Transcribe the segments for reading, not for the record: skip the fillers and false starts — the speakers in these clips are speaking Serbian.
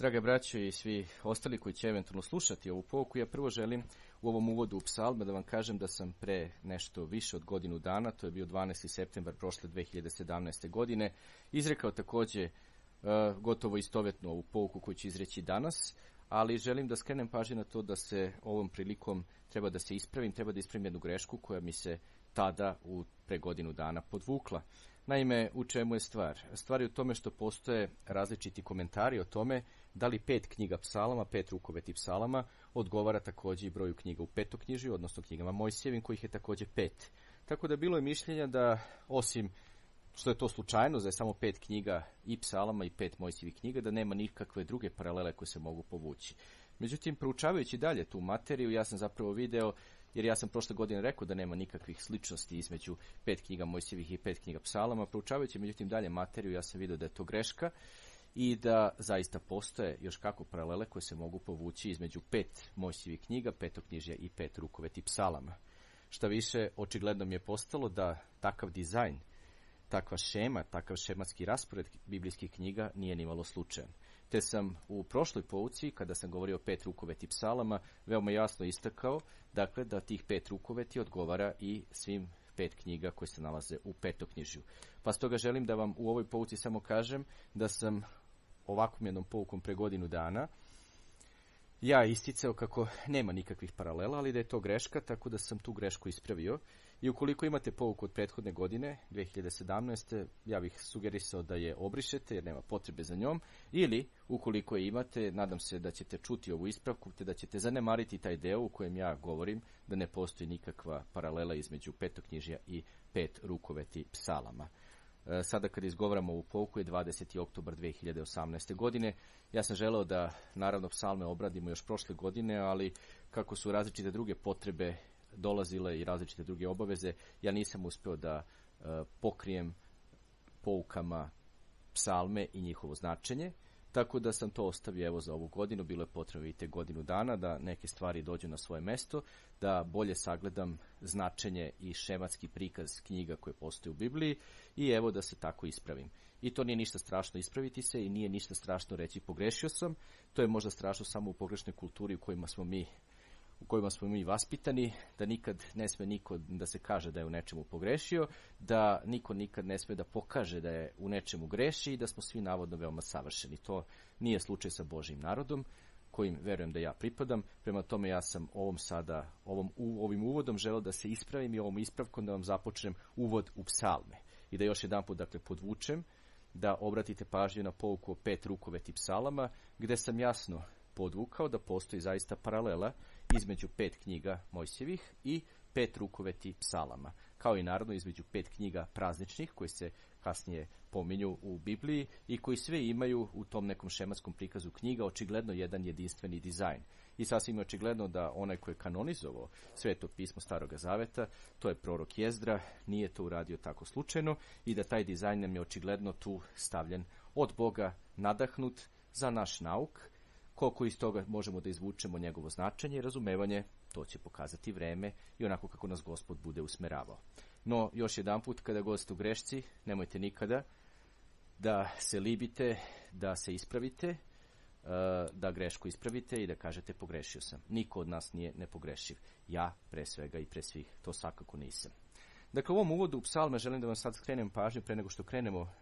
Drage braćo i svi ostali koji će eventualno slušati ovu pouku, ja prvo želim u ovom uvodu u psalme da vam kažem da sam pre nešto više od godinu dana, to je bio 12. septembar prošle 2017. godine, izrekao takođe gotovo istovetno ovu pouku koju ću izreći danas, ali želim da skrenem pažnju na to da se ovom prilikom treba da se ispravim, treba da ispravim jednu grešku koja mi se tada pre godinu dana podvukla. Naime, u čemu je stvar? Stvar je u tome što postoje različiti komentari o tome da li 5 knjiga psalama, 5 rukoveti psalama, odgovara takođe i broju knjiga u Petoknjižju, odnosno knjigama Mojsijevim, kojih je takođe 5. Tako da bilo je mišljenja da, osim što je to slučajno, da je samo 5 knjiga i psalama i 5 Mojsijevih knjiga, da nema nikakve druge paralele koje se mogu povući. Međutim, proučavajući dalje tu materiju, ja sam zapravo video, jer ja sam prošle godine rekao da nema nikakvih sličnosti između 5 knjiga Mojsijevih i 5 knjiga psalama. Proučavajući međutim dalje materiju, ja sam video da je to greška i da zaista postoje još kako paralele koje se mogu povući između 5 Mojsijevih knjiga, Petoknjižja i 5 rukoveti psalama. Šta više, očigledno mi je postalo da takav dizajn, takva šema, takav šematski raspored biblijskih knjiga nije nimalo slučajan. Te sam u prošloj pouci, kada sam govorio o 5 rukoveti psalama, veoma jasno istakao, dakle, da tih 5 rukoveti odgovara i svim 5 knjiga koje se nalaze u Petoknjižju. Pa stoga želim da vam u ovoj pouci samo kažem da sam ovakvom jednom poukom pre godinu dana ja isticao kako nema nikakvih paralela, ali da je to greška, tako da sam tu grešku ispravio. I ukoliko imate pouku od prethodne godine, 2017. ja bih sugerisao da je obrišete jer nema potrebe za njom, ili ukoliko je imate, nadam se da ćete čuti ovu ispravku, te da ćete zanemariti taj deo u kojem ja govorim da ne postoji nikakva paralela između Petoknjižja i 5 rukoveti psalama. Sada kad izgovaramo ovu pouku je 20. oktobar 2018. godine. Ja sam želeo da naravno psalme obradimo još prošle godine, ali kako su različite druge potrebe dolazile i različite druge obaveze, ja nisam uspeo da pokrijem poukama psalme i njihovo značenje, tako da sam to ostavio evo za ovu godinu. Bilo je potrebno i te godinu dana da neke stvari dođu na svoje mesto, da bolje sagledam značenje i šematski prikaz knjiga koje postoje u Bibliji i evo da se tako ispravim. I to nije ništa strašno ispraviti se i nije ništa strašno reći pogrešio sam, to je možda strašno samo u pogrešnoj kulturi u kojima smo mi vaspitani, da nikad ne sme niko da se kaže da je u nečemu pogrešio, da niko nikad ne sme da pokaže da je u nečemu greši i da smo svi navodno veoma savršeni. To nije slučaj sa Božjim narodom, kojim verujem da ja pripadam. Prema tome ja sam ovim uvodom želeo da se ispravim i ovom ispravkom da vam započnem uvod u psalme. I da još jedanput dakle podvučem, da obratite pažnju na pouku o 5 rukoveti psalama, gde sam jasno podvukao da postoji zaista paralela između 5 knjiga Mojsijevih i 5 rukoveti psalama, kao i naravno između 5 knjiga prazničnih koji se kasnije pominju u Bibliji i koji sve imaju u tom nekom šematskom prikazu knjiga očigledno jedan jedinstveni dizajn. I sasvim je očigledno da onaj koji je kanonizovao Sveto pismo Staroga Zaveta, to je prorok Jezdra, nije to uradio tako slučajno i da taj dizajn nam je očigledno tu stavljen od Boga, nadahnut za naš nauk. Koliko iz toga možemo da izvučemo njegovo značenje i razumevanje, to će pokazati vreme i onako kako nas Gospod bude usmeravao. No, još jedanput, kada god ste u grešci, nemojte nikada da se libite, da se ispravite, da grešku ispravite i da kažete pogrešio sam. Niko od nas nije nepogrešiv. Ja, pre svega i pre svih, to svakako nisam. Dakle, u ovom uvodu u psalme želim da vam sad skrenem pažnju pre nego što krenemo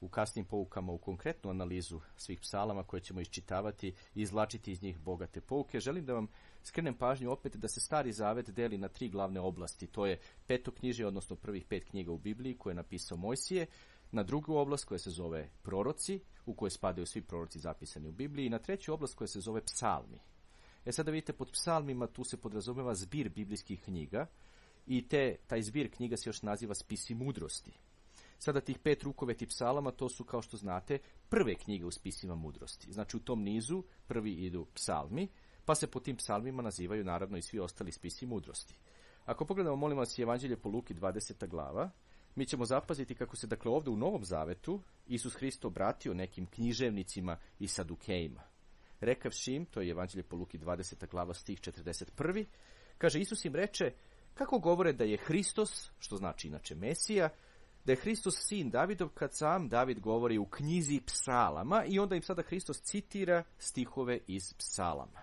u kasnim poukama u konkretnu analizu svih psalama koje ćemo iščitavati i izvlačiti iz njih bogate pouke. Želim da vam skrenem pažnju opet da se Stari Zavet deli na 3 glavne oblasti. To je Petoknjižje, odnosno prvih 5 knjiga u Bibliji koje je napisao Mojsije, na drugu oblast koja se zove proroci, u kojoj spadaju svi proroci zapisani u Bibliji, i na treću oblast koja se zove psalmi. Sada vidite, pod psalmima tu se podrazumeva zbir biblijskih knjiga i taj zbir knjiga se još naziva spisi mudrosti. Sada tih 5 rukoveti psalama, to su, kao što znate, prve knjige u spisima mudrosti. Znači u tom nizu prvi idu psalmi, pa se po tim psalmima nazivaju naravno i svi ostali spisi mudrosti. Ako pogledamo, molim vas, Evanđelje po Luki 20. glava, mi ćemo zapaziti kako se dakle ovdje u Novom Zavetu Isus Hristo obratio nekim književnicima i sadukejima. Rekavši im, to je Evanđelje po Luki 20. glava stih 41. Kaže, Isus im reče, kako govore da je Hristos, što znači inače Mesija, da je Hristos sin Davidov kad sam David govori u knjizi psalama i onda im sada Hristos citira stihove iz psalama.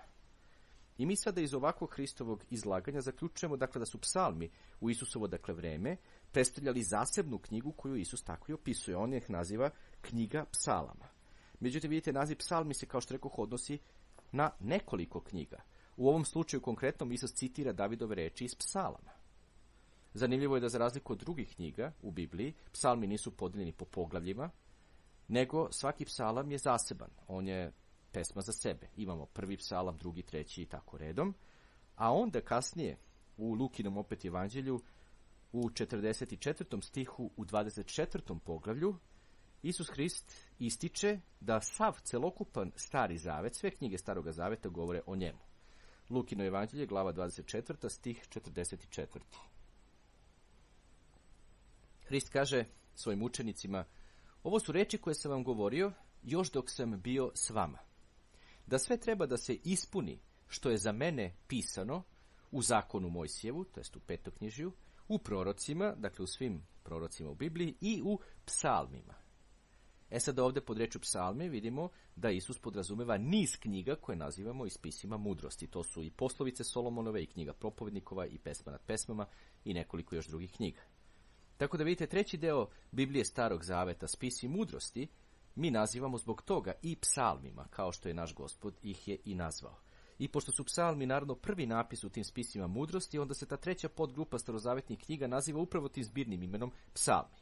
I mi sada iz ovakvog Hristovog izlaganja zaključujemo dakle da su psalmi u Isusovo dakle vreme predstavljali zasebnu knjigu koju Isus tako i opisuje. On ih naziva knjiga psalama. Međutim, vidite, naziv psalmi se, kao što rekoh, odnosi na nekoliko knjiga. U ovom slučaju konkretnom Isus citira Davidove reči iz psalama. Zanimljivo je da za razliku od drugih knjiga u Bibliji, psalmi nisu podijeljeni po poglavljima, nego svaki psalam je zaseban. On je pesma za sebe. Imamo prvi psalam, drugi, treći i tako redom. A onda kasnije u Lukinom opet evanđelju u 44. stihu u 24. poglavlju Isus Hrist ističe da sav celokupan Stari Zavet, sve knjige Staroga Zaveta govore o njemu. Lukino evanđelje, glava 24. stih 44. Hrist kaže svojim učenicima: ovo su reči koje sam vam govorio još dok sam bio s vama. Da sve treba da se ispuni što je za mene pisano u zakonu Mojsijevu, to jest u Petoknjižju, u prorocima, dakle u svim prorocima u Bibliji i u psalmima. Sad ovdje pod rečju psalmi vidimo da Isus podrazumeva niz knjiga koje nazivamo i spisima mudrosti. To su i poslovice Solomonove, i knjiga propovednikova, i pesma nad pesmama, i nekoliko još drugih knjiga. Tako da vidite, treći deo Biblije Starog Zaveta, spisi mudrosti, mi nazivamo zbog toga i psalmima, kao što je naš Gospod ih je i nazvao. I pošto su psalmi naravno prvi napis u tim spisima mudrosti, onda se ta treća podgrupa starozavetnih knjiga naziva upravo tim zbirnim imenom psalmi.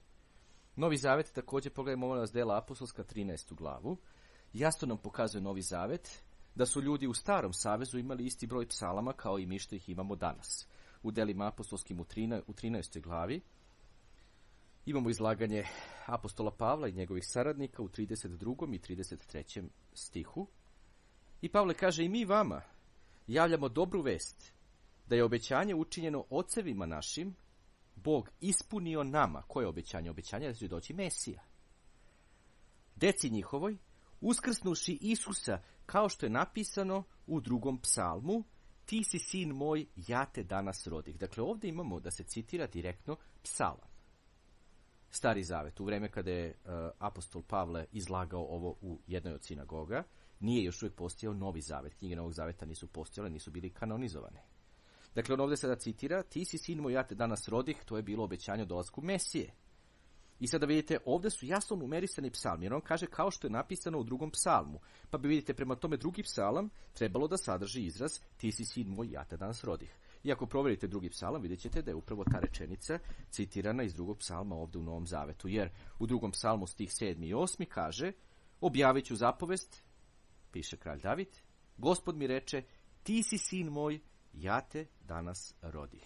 Novi Zavet, također pogledajmo molim vas dela apostolska 13. glavu, jasno nam pokazuje Novi Zavet da su ljudi u Starom Savezu imali isti broj psalama kao i mi što ih imamo danas. U delima apostolskim u 13. glavi imamo izlaganje apostola Pavla i njegovih saradnika u 32. i 33. stihu. I Pavle kaže: i mi vama javljamo dobru vest, da je obećanje učinjeno ocevima našim, Bog ispunio nama. Koje je obećanje? Obećanje da će doći Mesija. Deci njihovoj, uskrsnuši Isusa, kao što je napisano u 2. psalmu: ti si sin moj, ja te danas rodih. Dakle, ovdje imamo da se citira direktno psalam. Stari Zavet, u vreme kada je apostol Pavle izlagao ovo u jednoj od sinagoga, nije još uvijek postojao Novi Zavet. Knjige Novog Zaveta nisu postojale, nisu bili kanonizovane. Dakle, on ovdje sada citira: ti si sin moj, ja te danas rodih. To je bilo obećanje o dolasku Mesije. I sada vidite, ovdje su jasno numerisani psalmi, jer on kaže kao što je napisano u 2. psalmu. Pa bi vidite, prema tome drugi psalam trebalo da sadrži izraz: ti si sin moj, ja te danas rodih. I ako provjerite 2. psalam, vidjet ćete da je upravo ta rečenica citirana iz 2. psalma ovdje u Novom Zavetu. Jer u 2. psalmu stih 7. i 8. kaže: objavit ću zapovest, piše kralj David, Gospod mi reče: ti si sin moj, ja te danas rodih.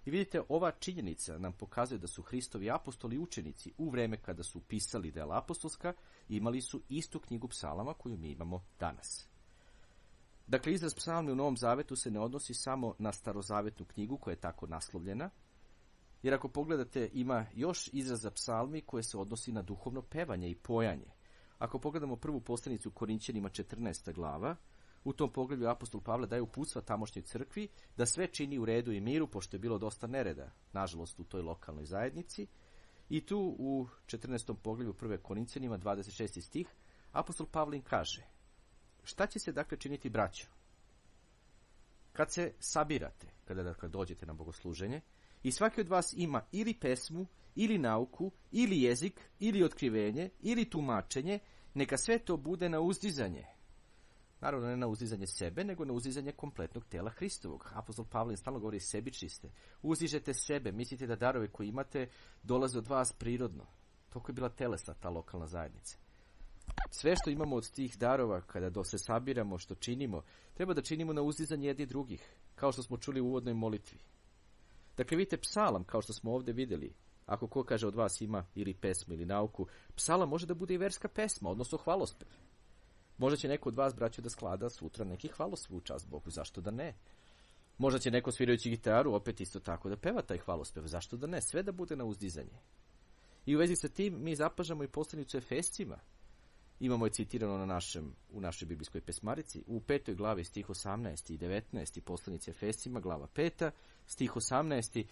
I vidite, ova činjenica nam pokazuje da su Hristovi apostoli i učenici u vreme kada su pisali dela apostolska imali su istu knjigu psalama koju mi imamo danas. Dakle, izraz psalmi u Novom Zavetu se ne odnosi samo na starozavetnu knjigu koja je tako naslovljena, jer ako pogledate ima još izraza psalmi koje se odnosi na duhovno pevanje i pojanje. Ako pogledamo prvu poslanicu Korinćanima 14. glava, u tom poglavlju apostol Pavle daje uputstva tamošnjoj crkvi da sve čini u redu i miru, pošto je bilo dosta nereda, nažalost, u toj lokalnoj zajednici. I tu u 14. poglavlju prve Korinćanima 26. stih apostol Pavle im kaže: šta će se dakle činiti, braćo? Kad se sabirate, kada dakle dođete na bogosluženje, i svaki od vas ima ili pesmu, ili nauku, ili jezik, ili otkrivenje, ili tumačenje, neka sve to bude na uzdizanje. Naravno, ne na uzdizanje sebe, nego na uzdizanje kompletnog tela Hristovog. Apostol Pavle stalno govori: sebični. Uzižete sebe, mislite da darove koje imate dolaze od vas prirodno. Toliko je bila telesna ta lokalna zajednica. Sve što imamo od tih darova, kada se sabiramo, što činimo, treba da činimo na uzdizanje jedni drugih, kao što smo čuli u uvodnoj molitvi. Dakle, vidite, psalam, kao što smo ovdje vidjeli, ako ko kaže od vas ima ili pesmu ili nauku, psalam može da bude i verska pesma, odnosno hvalospev. Možda će neko od vas, braćo, da sklada sutra neki hvalospev u čast Bogu, zašto da ne? Možda će neko svirajući gitaru opet isto tako da peva taj hvalospev, zašto da ne? Sve da bude na uzdizanje. I u vezi sa tim mi zapažamo i poslanicu Efescima. Imamo je citirano u našoj biblijskoj pesmarici, u 5. glavi stih 18. i 19. poslanici Efescima, glava 5. stih 18.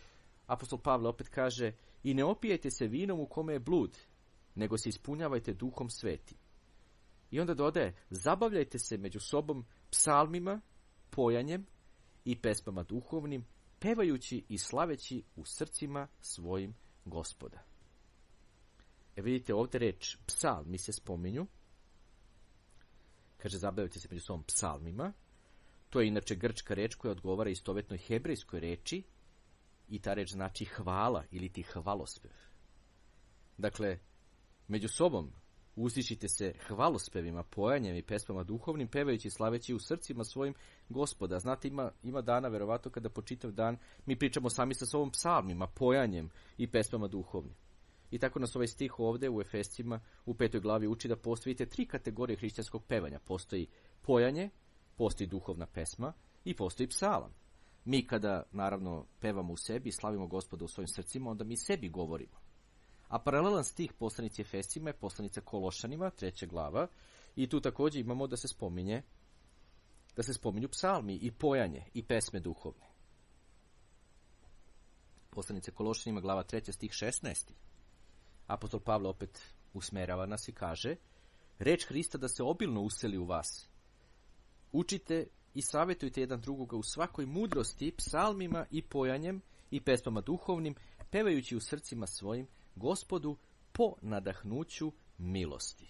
apostol Pavle opet kaže: I ne opijajte se vinom u kome je blud, nego se ispunjavajte Duhom Svetim. I onda dodaje, zabavljajte se među sobom psalmima, pojanjem i pesmama duhovnim, pevajući i slaveći u srcima svojim Gospoda. Vidite ovdje reč psalmi se spominju. Kaže, zabavljajte se među sobom psalmima. To je inače grčka reč koja odgovara istovetnoj hebrejskoj reči i ta reč znači hvala ili ti hvalospev. Dakle, među sobom uzdišite se hvalospevima, pojanjem i pesmama duhovnim, pevajući i slaveći u srcima svojim Gospoda. Znate, ima dana, verovatno, kada po čitav dan mi pričamo sami sa sobom psalmima, pojanjem i pesmama duhovnim. I tako nas ovaj stih ovdje u Efescima u 5. glavi uči da postoji 3 kategorije hrišćanskog pevanja. Postoji pojanje, postoji duhovna pesma i postoji psalam. Mi kada, naravno, pevamo u sebi i slavimo Gospoda u svojim srcima, onda mi sebi govorimo. A paralelan stih poslanici Efescima je poslanica Kološanima, 3. glava, i tu također imamo da se spominju psalmi i pojanje i pesme duhovne. Poslanice Kološanima, glava 3. stih 16. Apostol Pavle opet usmerava nas i kaže, reč Hrista da se obilno useli u vas. Učite i savjetujte jedan drugoga u svakoj mudrosti, psalmima i pojanjem i pesmama duhovnim, pevajući u srcima svojim Gospodu po nadahnuću milosti.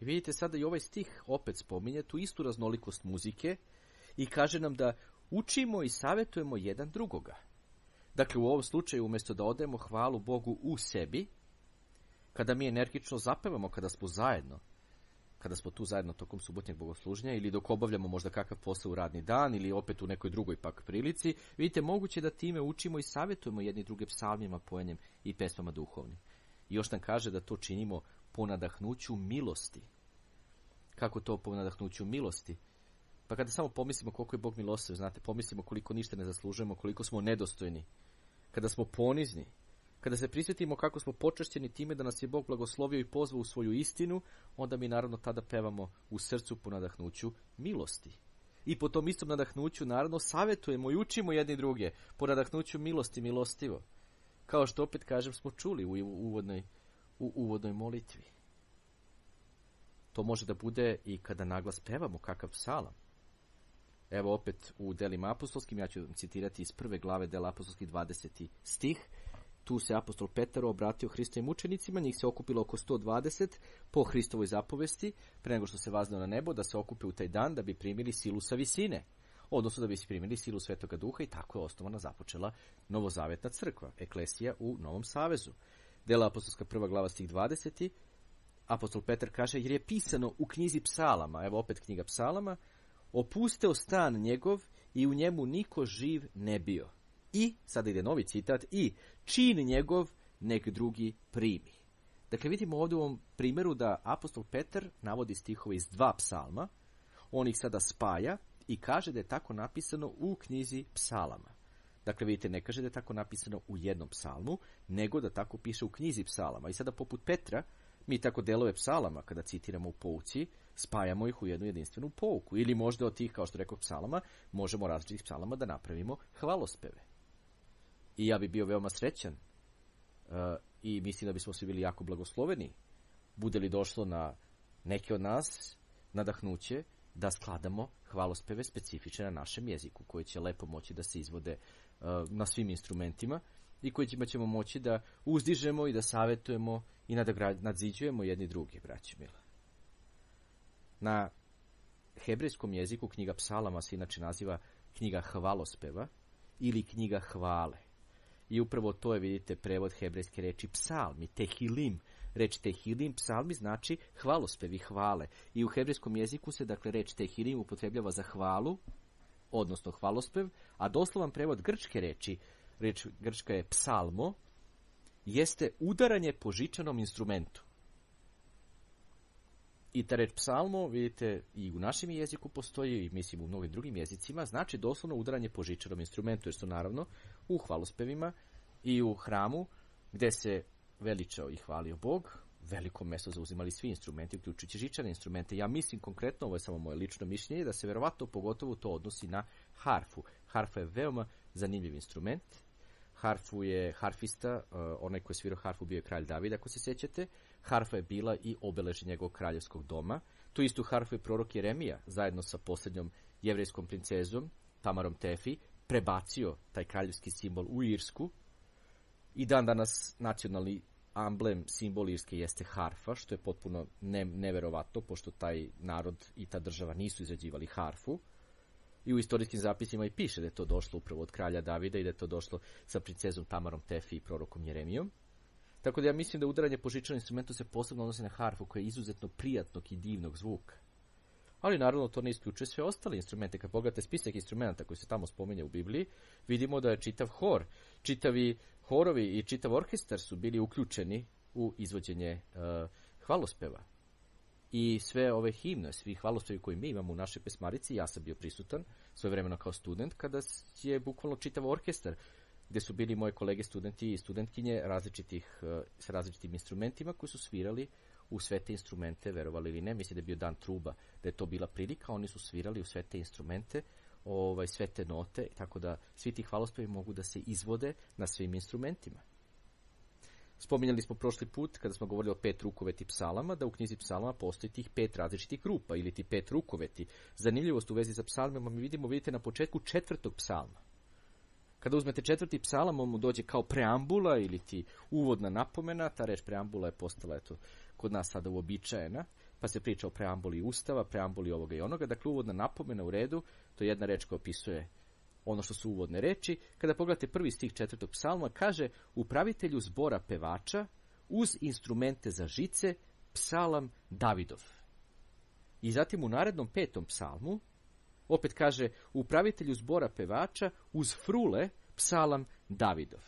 I vidite sada i ovaj stih opet spominje tu istu raznolikost muzike i kaže nam da učimo i savjetujemo jedan drugoga. Dakle, u ovom slučaju, umjesto da odajemo hvalu Bogu u sebi, kada mi energično zapevamo, kada smo tu zajedno tokom subotnjeg bogosluženja ili dok obavljamo možda kakav posao u radni dan ili opet u nekoj drugoj pak prilici, vidite, moguće da time učimo i savjetujemo jedni druge psalmima, pojanjem i pesmama duhovnim. I još nam kaže da to činimo po nadahnuću milosti. Kako to po nadahnuću milosti? Pa kada samo pomislimo koliko je Bog milostiv, znate, pomislimo koliko ništa ne zaslužujemo, koliko smo nedostojni, kada smo ponizni, kada se prisjetimo kako smo počašćeni time da nas je Bog blagoslovio i pozvao u svoju istinu, onda mi naravno tada pevamo u srcu po nadahnuću milosti. I po tom istom nadahnuću naravno savjetujemo i učimo jedni druge po nadahnuću milosti, milostivo. Kao što opet kažem smo čuli u uvodnoj molitvi. To može da bude i kada naglas pevamo kakav psalam. Evo opet u delima apostolskim, ja ću citirati iz 1. glave dela apostolskih 20. stih. Tu se apostol Petar obratio Hristovim učenicima, njih se okupilo oko 120 po Hristovoj zapovesti, pre nego što se vazneo na nebo, da se okupe u taj dan da bi primili silu sa visine, odnosno da bi se primili silu Svetoga Duha, i tako je osnovana, započela novozavetna crkva, eklesija u Novom Savezu. Dela apostolska 1. glava stih 20. Apostol Petar kaže, jer je pisano u knjizi psalama, evo opet knjiga psalama, opusteo stan njegov i u njemu niko živ ne bio. I, sada ide novi citat, i čin njegov nek drugi primi. Dakle, vidimo ovdje u ovom primjeru da apostol Petar navodi stihove iz 2 psalma, on ih sada spaja i kaže da je tako napisano u knjizi psalama. Dakle, vidite, ne kaže da je tako napisano u jednom psalmu, nego da tako piše u knjizi psalama. I sada poput Petra, mi tako delove psalama, kada citiramo u pouci, spajamo ih u jednu jedinstvenu pouku. Ili možda od tih, kao što rekao, psalama, možemo različitih psalama da napravimo hvalospeve. I ja bi bio veoma srećan i mislim da bismo svi bili jako blagosloveni, bude li došlo na neke od nas nadahnuće da skladamo hvalospeve specifične na našem jeziku, koji će lepo moći da se izvode na svim instrumentima i kojima ćemo moći da uzdižemo i da savjetujemo i nadziđujemo jedni drugi, braći mila. Na hebrejskom jeziku knjiga psalama se inače naziva knjiga hvalospeva ili knjiga hvale. I upravo to je, vidite, prevod hebrejske reči psalmi, tehilim. Reč tehilim, psalmi, znači hvalospevi, hvale. I u hebrejskom jeziku se, dakle, reč tehilim upotrebljava za hvalu, odnosno hvalospev, a doslovan prevod grčke reči, reč grčka je psalmo, jeste udaranje po žičanom instrumentu. I ta reč psalmo, vidite, i u našem jeziku postoji, i mislim u mnogim drugim jezicima, znači doslovno udaranje po žičanom instrumentu, jer su naravno u hvalospevima i u hramu, gde se veličao i hvalio Bog, veliko mesto zauzimali svi instrumenti, uključujući žičane instrumente. Ja mislim konkretno, ovo je samo moje lično mišljenje, da se verovatno pogotovo to odnosi na harfu. Harfa je veoma zanimljiv instrument. harfu je harfista, onaj koji je svirao harfu bio je kralj David, ako se sjećate. Harfa je bila i obeležje njegovog kraljevskog doma. Tu istu harfu je prorok Jeremija, zajedno sa posljednjom jevrejskom princezom, Tamarom Tefi, prebacio taj kraljevski simbol u Irsku. I dan danas nacionalni amblem, simbol Irske jeste harfa, što je potpuno neverovatno, pošto taj narod i ta država nisu izrađivali harfu. I u istorijskim zapisima i piše da je to došlo upravo od kralja Davida i da je to došlo sa princezom Tamarom Tefi i prorokom Jeremijom. Tako da ja mislim da udaranje po žičanom instrumentu se posebno odnosi na harfu, koja je izuzetno prijatnog i divnog zvuka. Ali naravno to ne isključuje sve ostale instrumente. Kad pogledate spisak instrumenta koji se tamo spominje u Bibliji, vidimo da je čitav hor, čitavi horovi i čitav orkestar su bili uključeni u izvođenje hvalospeva. I sve ove himne, svi hvalospevi koje mi imamo u našoj pesmarici, ja sam bio prisutan svojevremeno kao student, kada je bukvalno čitav orkestar, gde su bili moje kolege studenti i studentkinje sa različitim instrumentima koji su svirali u sve te instrumente, verovali ili ne. Mislim da je bio dan truba, da je to bila prilika, oni su svirali u sve te instrumente, sve te note, tako da svi ti hvalospevi mogu da se izvode na svim instrumentima. Spominjali smo prošli put, kada smo govorili o 5 rukoveti psalama, da u knjizi psalama postoji tih 5 različitih grupa, ili ti 5 rukoveti. Zanimljivost u vezi sa psalmima mi vidite na početku 4. psalma. Kada uzmete 4. psalam, on mu dođe kao preambula ili ti uvodna napomena. Ta reč preambula je postala kod nas sada uobičajena, pa se priča o preambuli Ustava, preambuli ovoga i onoga. Dakle, uvodna napomena u redu, to je jedna reč koja opisuje ono što su uvodne reči. Kada pogledate prvi stih 4. psalma, kaže: upravitelju zbora pevača uz instrumente za žice, psalam Davidov. I zatim u narednom 5. psalmu opet kaže: upravitelju zbora pevača uz frule, psalam Davidov.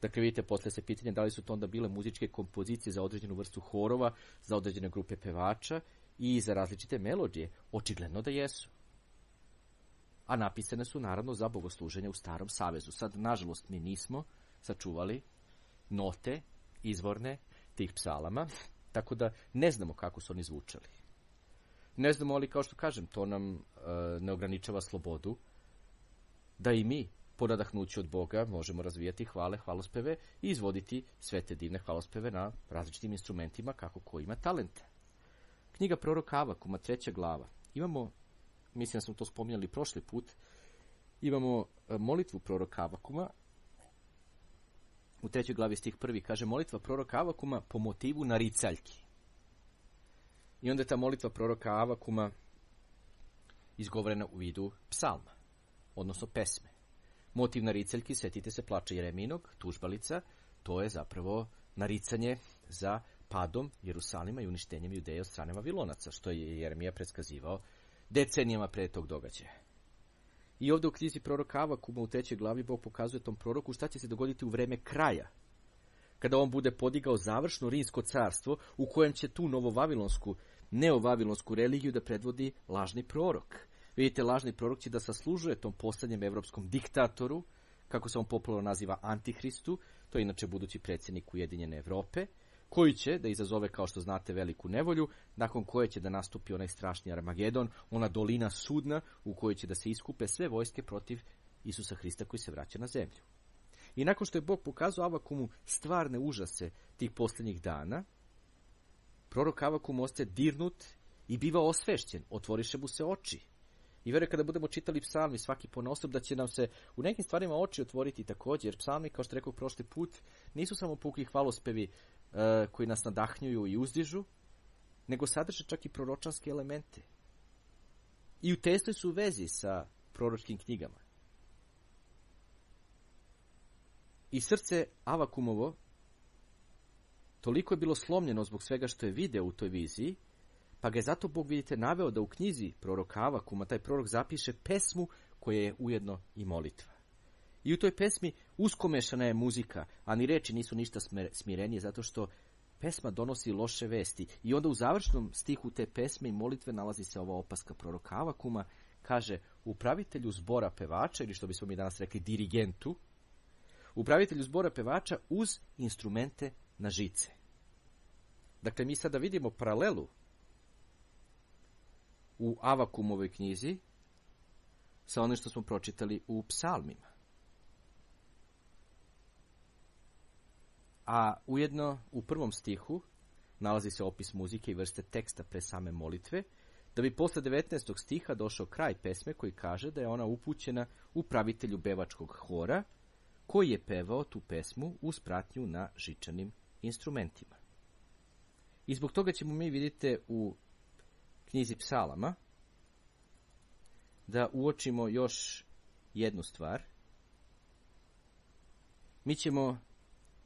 Dakle, vidite, posle se pitanje da li su to onda bile muzičke kompozicije za određenu vrstu horova, za određene grupe pevača i za različite melodije. Očigledno da jesu. A napisane su naravno za bogosluženje u Starom savezu. Sad, nažalost, mi nismo sačuvali note izvorne tih psalama, tako da ne znamo kako su oni zvučali. Ne znamo, ali kao što kažem, to nam ne ograničava slobodu da i mi po nadahnuću od Boga možemo razvijati hvalospeve i izvoditi sve te divne hvalospeve na različitim instrumentima kako ko ima talenta. Knjiga proroka Avakuma, 3. glava. Imamo, mislim da smo to spominjali prošli put, imamo molitvu proroka Avakuma. U 3. glavi stih 1. kaže: molitva proroka Avakuma po motivu naricaljki. I onda je ta molitva proroka Avakuma izgovorena u vidu psalma, odnosno pesme. Motiv naricaljki, setite se plača Jeremijinog, tužbalica, to je zapravo naricanje za padom Jerusalima i uništenjem Judeje od strane Vavilonaca, što je Jeremija predskazivao decenijama pre tog događaja. I ovdje u knjizi proroka Avakuma u 3. glavi Bog pokazuje tom proroku šta će se dogoditi u vreme kraja, kada on bude podigao završno rimsko carstvo u kojem će tu neovavilonsku religiju da predvodi lažni prorok. Vidite, lažni prorok će da saslužuje tom poslednjem evropskom diktatoru, kako se on popularno naziva Antihristu, to je inače budući predsjednik Ujedinjene Evrope, koji će da izazove, kao što znate, veliku nevolju, nakon koje će da nastupi onaj strašni Armagedon, ona dolina sudna u kojoj će da se iskupe sve vojske protiv Isusa Hrista koji se vraća na zemlju. I nakon što je Bog pokazao Avakumu stvarne užase tih posljednjih dana, prorok Avakum ostaje dirnut i biva osvešćen, otvoriše mu se oči. I vjerujem kada budemo čitali psalmi svaki ponaosob da će nam se u nekim stvarima oči otvoriti također, jer psalmi, kao što rekao prošli put, nisu samo puki hvalospevi koji nas nadahnjuju i uzdižu, nego sadrže čak i proročanske elemente. I u tesnoj su vezi sa proročkim knjigama. I srce Avakumovo toliko je bilo slomljeno zbog svega što je video u toj viziji, pa ga je zato Bog, vidite, naveo da u knjizi proroka Avakuma taj prorok zapiše pesmu koja je ujedno i molitva. I u toj pesmi uskomešana je muzika, a ni reči nisu ništa smirenije, zato što pesma donosi loše vesti. I onda u završnom stihu te pesme i molitve nalazi se ova opaska proroka Avakuma, kaže: upravitelju zbora pevača, ili što bismo mi danas rekli dirigentu, upravitelju zbora pevača uz instrumente na žice. Dakle, mi sada vidimo paralelu u Avakumovoj knjizi sa onim što smo pročitali u psalmima. a ujedno u prvom stihu nalazi se opis muzike i vrste teksta pre same molitve, da bi posle 19. stiha došao kraj pesme koji kaže da je ona upućena upravitelju pevačkog hora, koji je pevao tu pesmu uz pratnju na žičanim instrumentima. I zbog toga ćemo mi, vidite, u knjizi Psalama da uočimo još jednu stvar. Mi ćemo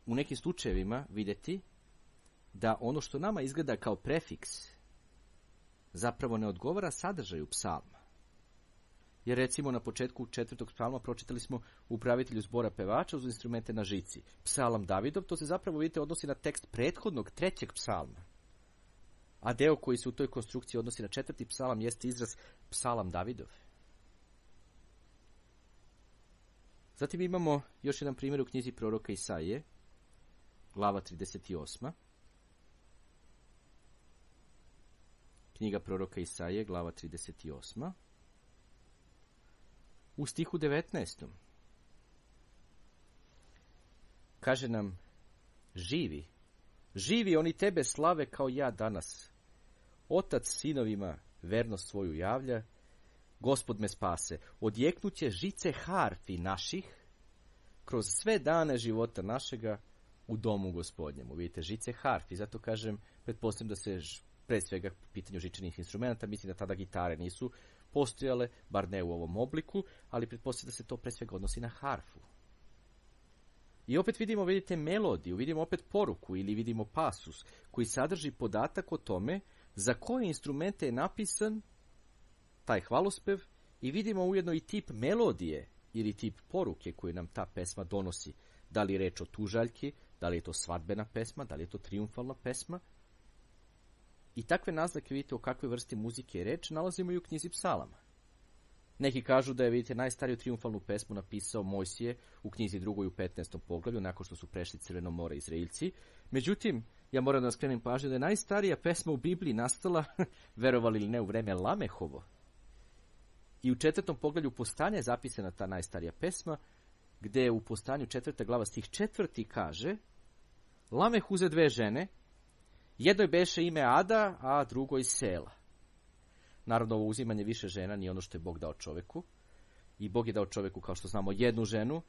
u nekim slučajevima vidjeti da ono što nama izgleda kao prefiks zapravo ne odgovara sadržaju psalma. Jer recimo na početku 4. psalma pročitali smo upravitelju zbora pevača uz instrumente na žici. Psalam Davidov, to se zapravo, vidite, odnosi na tekst prethodnog 3. psalma. A deo koji se u toj konstrukciji odnosi na 4. psalam jeste izraz Psalam Davidov. Zatim imamo još jedan primjer u knjizi proroka Isaije, glava 38. Knjiga proroka Isaije, glava 38. U stihu 19. kaže nam: živi oni tebe slave kao ja danas. Otac sinovima vernost svoju javlja, Gospod me spase. Odjeknuće žice harfi naših kroz sve dane života našega u domu Gospodnjemu. Vidite, žice harfi, zato kažem, pretpostavljam da se pre svega po pitanju žičanih instrumenta, mislim da tada gitare nisu postojale, bar ne u ovom obliku, ali pretpostavljam da se to pre svega odnosi na harfu. I opet vidimo, vidite, melodiju, vidimo opet poruku ili vidimo pasus koji sadrži podatak o tome za koje instrumente je napisan taj hvalospev i vidimo ujedno i tip melodije ili tip poruke koju nam ta pesma donosi. Da li je reč o tužaljki, da li je to svadbena pesma, da li je to trijumfalna pesma. I takve naznake, vidite, o kakvoj vrsti muzike je reč, nalazimo i u knjizi Psalama. Neki kažu da je, vidite, najstariju trijumfalnu pesmu napisao Mojsije u knjizi 2. u 15. poglavlju, nakon što su prešli Crveno more Izraeljci. Međutim, ja moram da vam skrenem pažnju da je najstarija pesma u Bibliji nastala, verovali ili ne, u vreme Lamehovo. I u 4. poglavlju Postanja je zapisana ta najstarija pesma, gde u Postanju 4. glava stih 4. kaže: Lameh uze 2 žene, jednoj beše ime Ada, a drugoj Sela. Naravno, ovo uzimanje više žena nije ono što je Bog dao čoveku. I Bog je dao čoveku, kao što znamo, jednu ženu,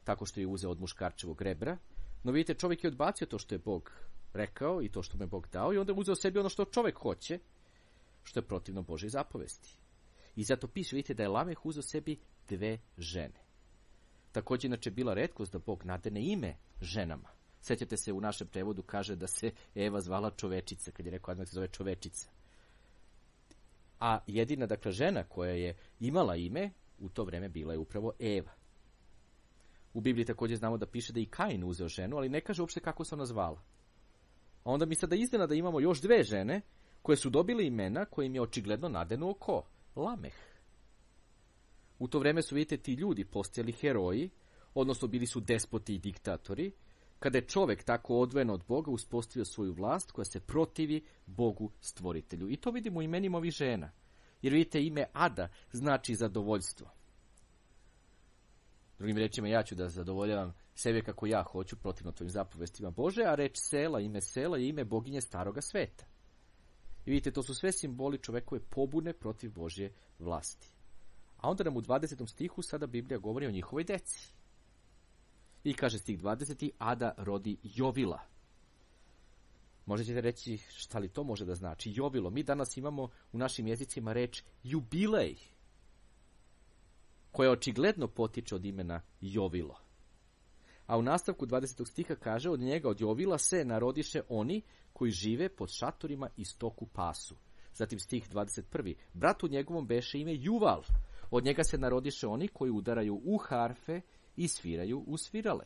tako što je uzeo od muškarčevog rebra. No vidite, čovjek je odbacio to što je Bog rekao i to što mu je Bog dao, i onda je uzeo sebi ono što čovjek hoće, što je protivno Božoj zapovesti. I zato piše, vidite, da je Lameh uzeo sebi 2 žene. Također, inače, bila retkost da Bog nadene ime ženama. Sjećate se, u našem prevodu kaže da se Eva zvala čovečica, kad je rekao odmah se zove čovečica. A jedina, dakle, žena koja je imala ime u to vreme bila je upravo Eva. U Bibliji također znamo da piše da i Kain uzeo ženu, ali ne kaže uopšte kako se ona zvala. A onda mi sada iznenada imamo još 2 žene koje su dobile imena kojim je očigledno nadenuo ko? Lameh. U to vreme su, vidite, ti ljudi postojali heroji, odnosno bili su despoti i diktatori, kada je čovek tako odvojen od Boga uspostavio svoju vlast koja se protivi Bogu stvoritelju. I to vidimo u imenima ovih žena. Jer vidite, ime Ada znači zadovoljstvo. Drugim rečima, ja ću da zadovoljavam sebe kako ja hoću, protivno tvojim zapovestima Bože, a reč Sela, ime Sela je ime boginje staroga sveta. I vidite, to su sve simboli čovekove pobune protiv Božje vlasti. A onda nam u 20. stihu sada Biblija govori o njihovoj deci. I kaže stih 20. Ada rodi Jovila. Možda ćete reći, šta li to može da znači? Jovilo. Mi danas imamo u našim jezicima reč jubilej, koja očigledno potiče od imena Jovilo. A u nastavku 20. stiha kaže, od njega, od Jovila, se narodiše oni koji žive pod šatorima i stoku pasu. Zatim stih 21. Bratu njegovom beše ime Juval. Od njega se narodiše oni koji udaraju u harfe i sviraju u svirale.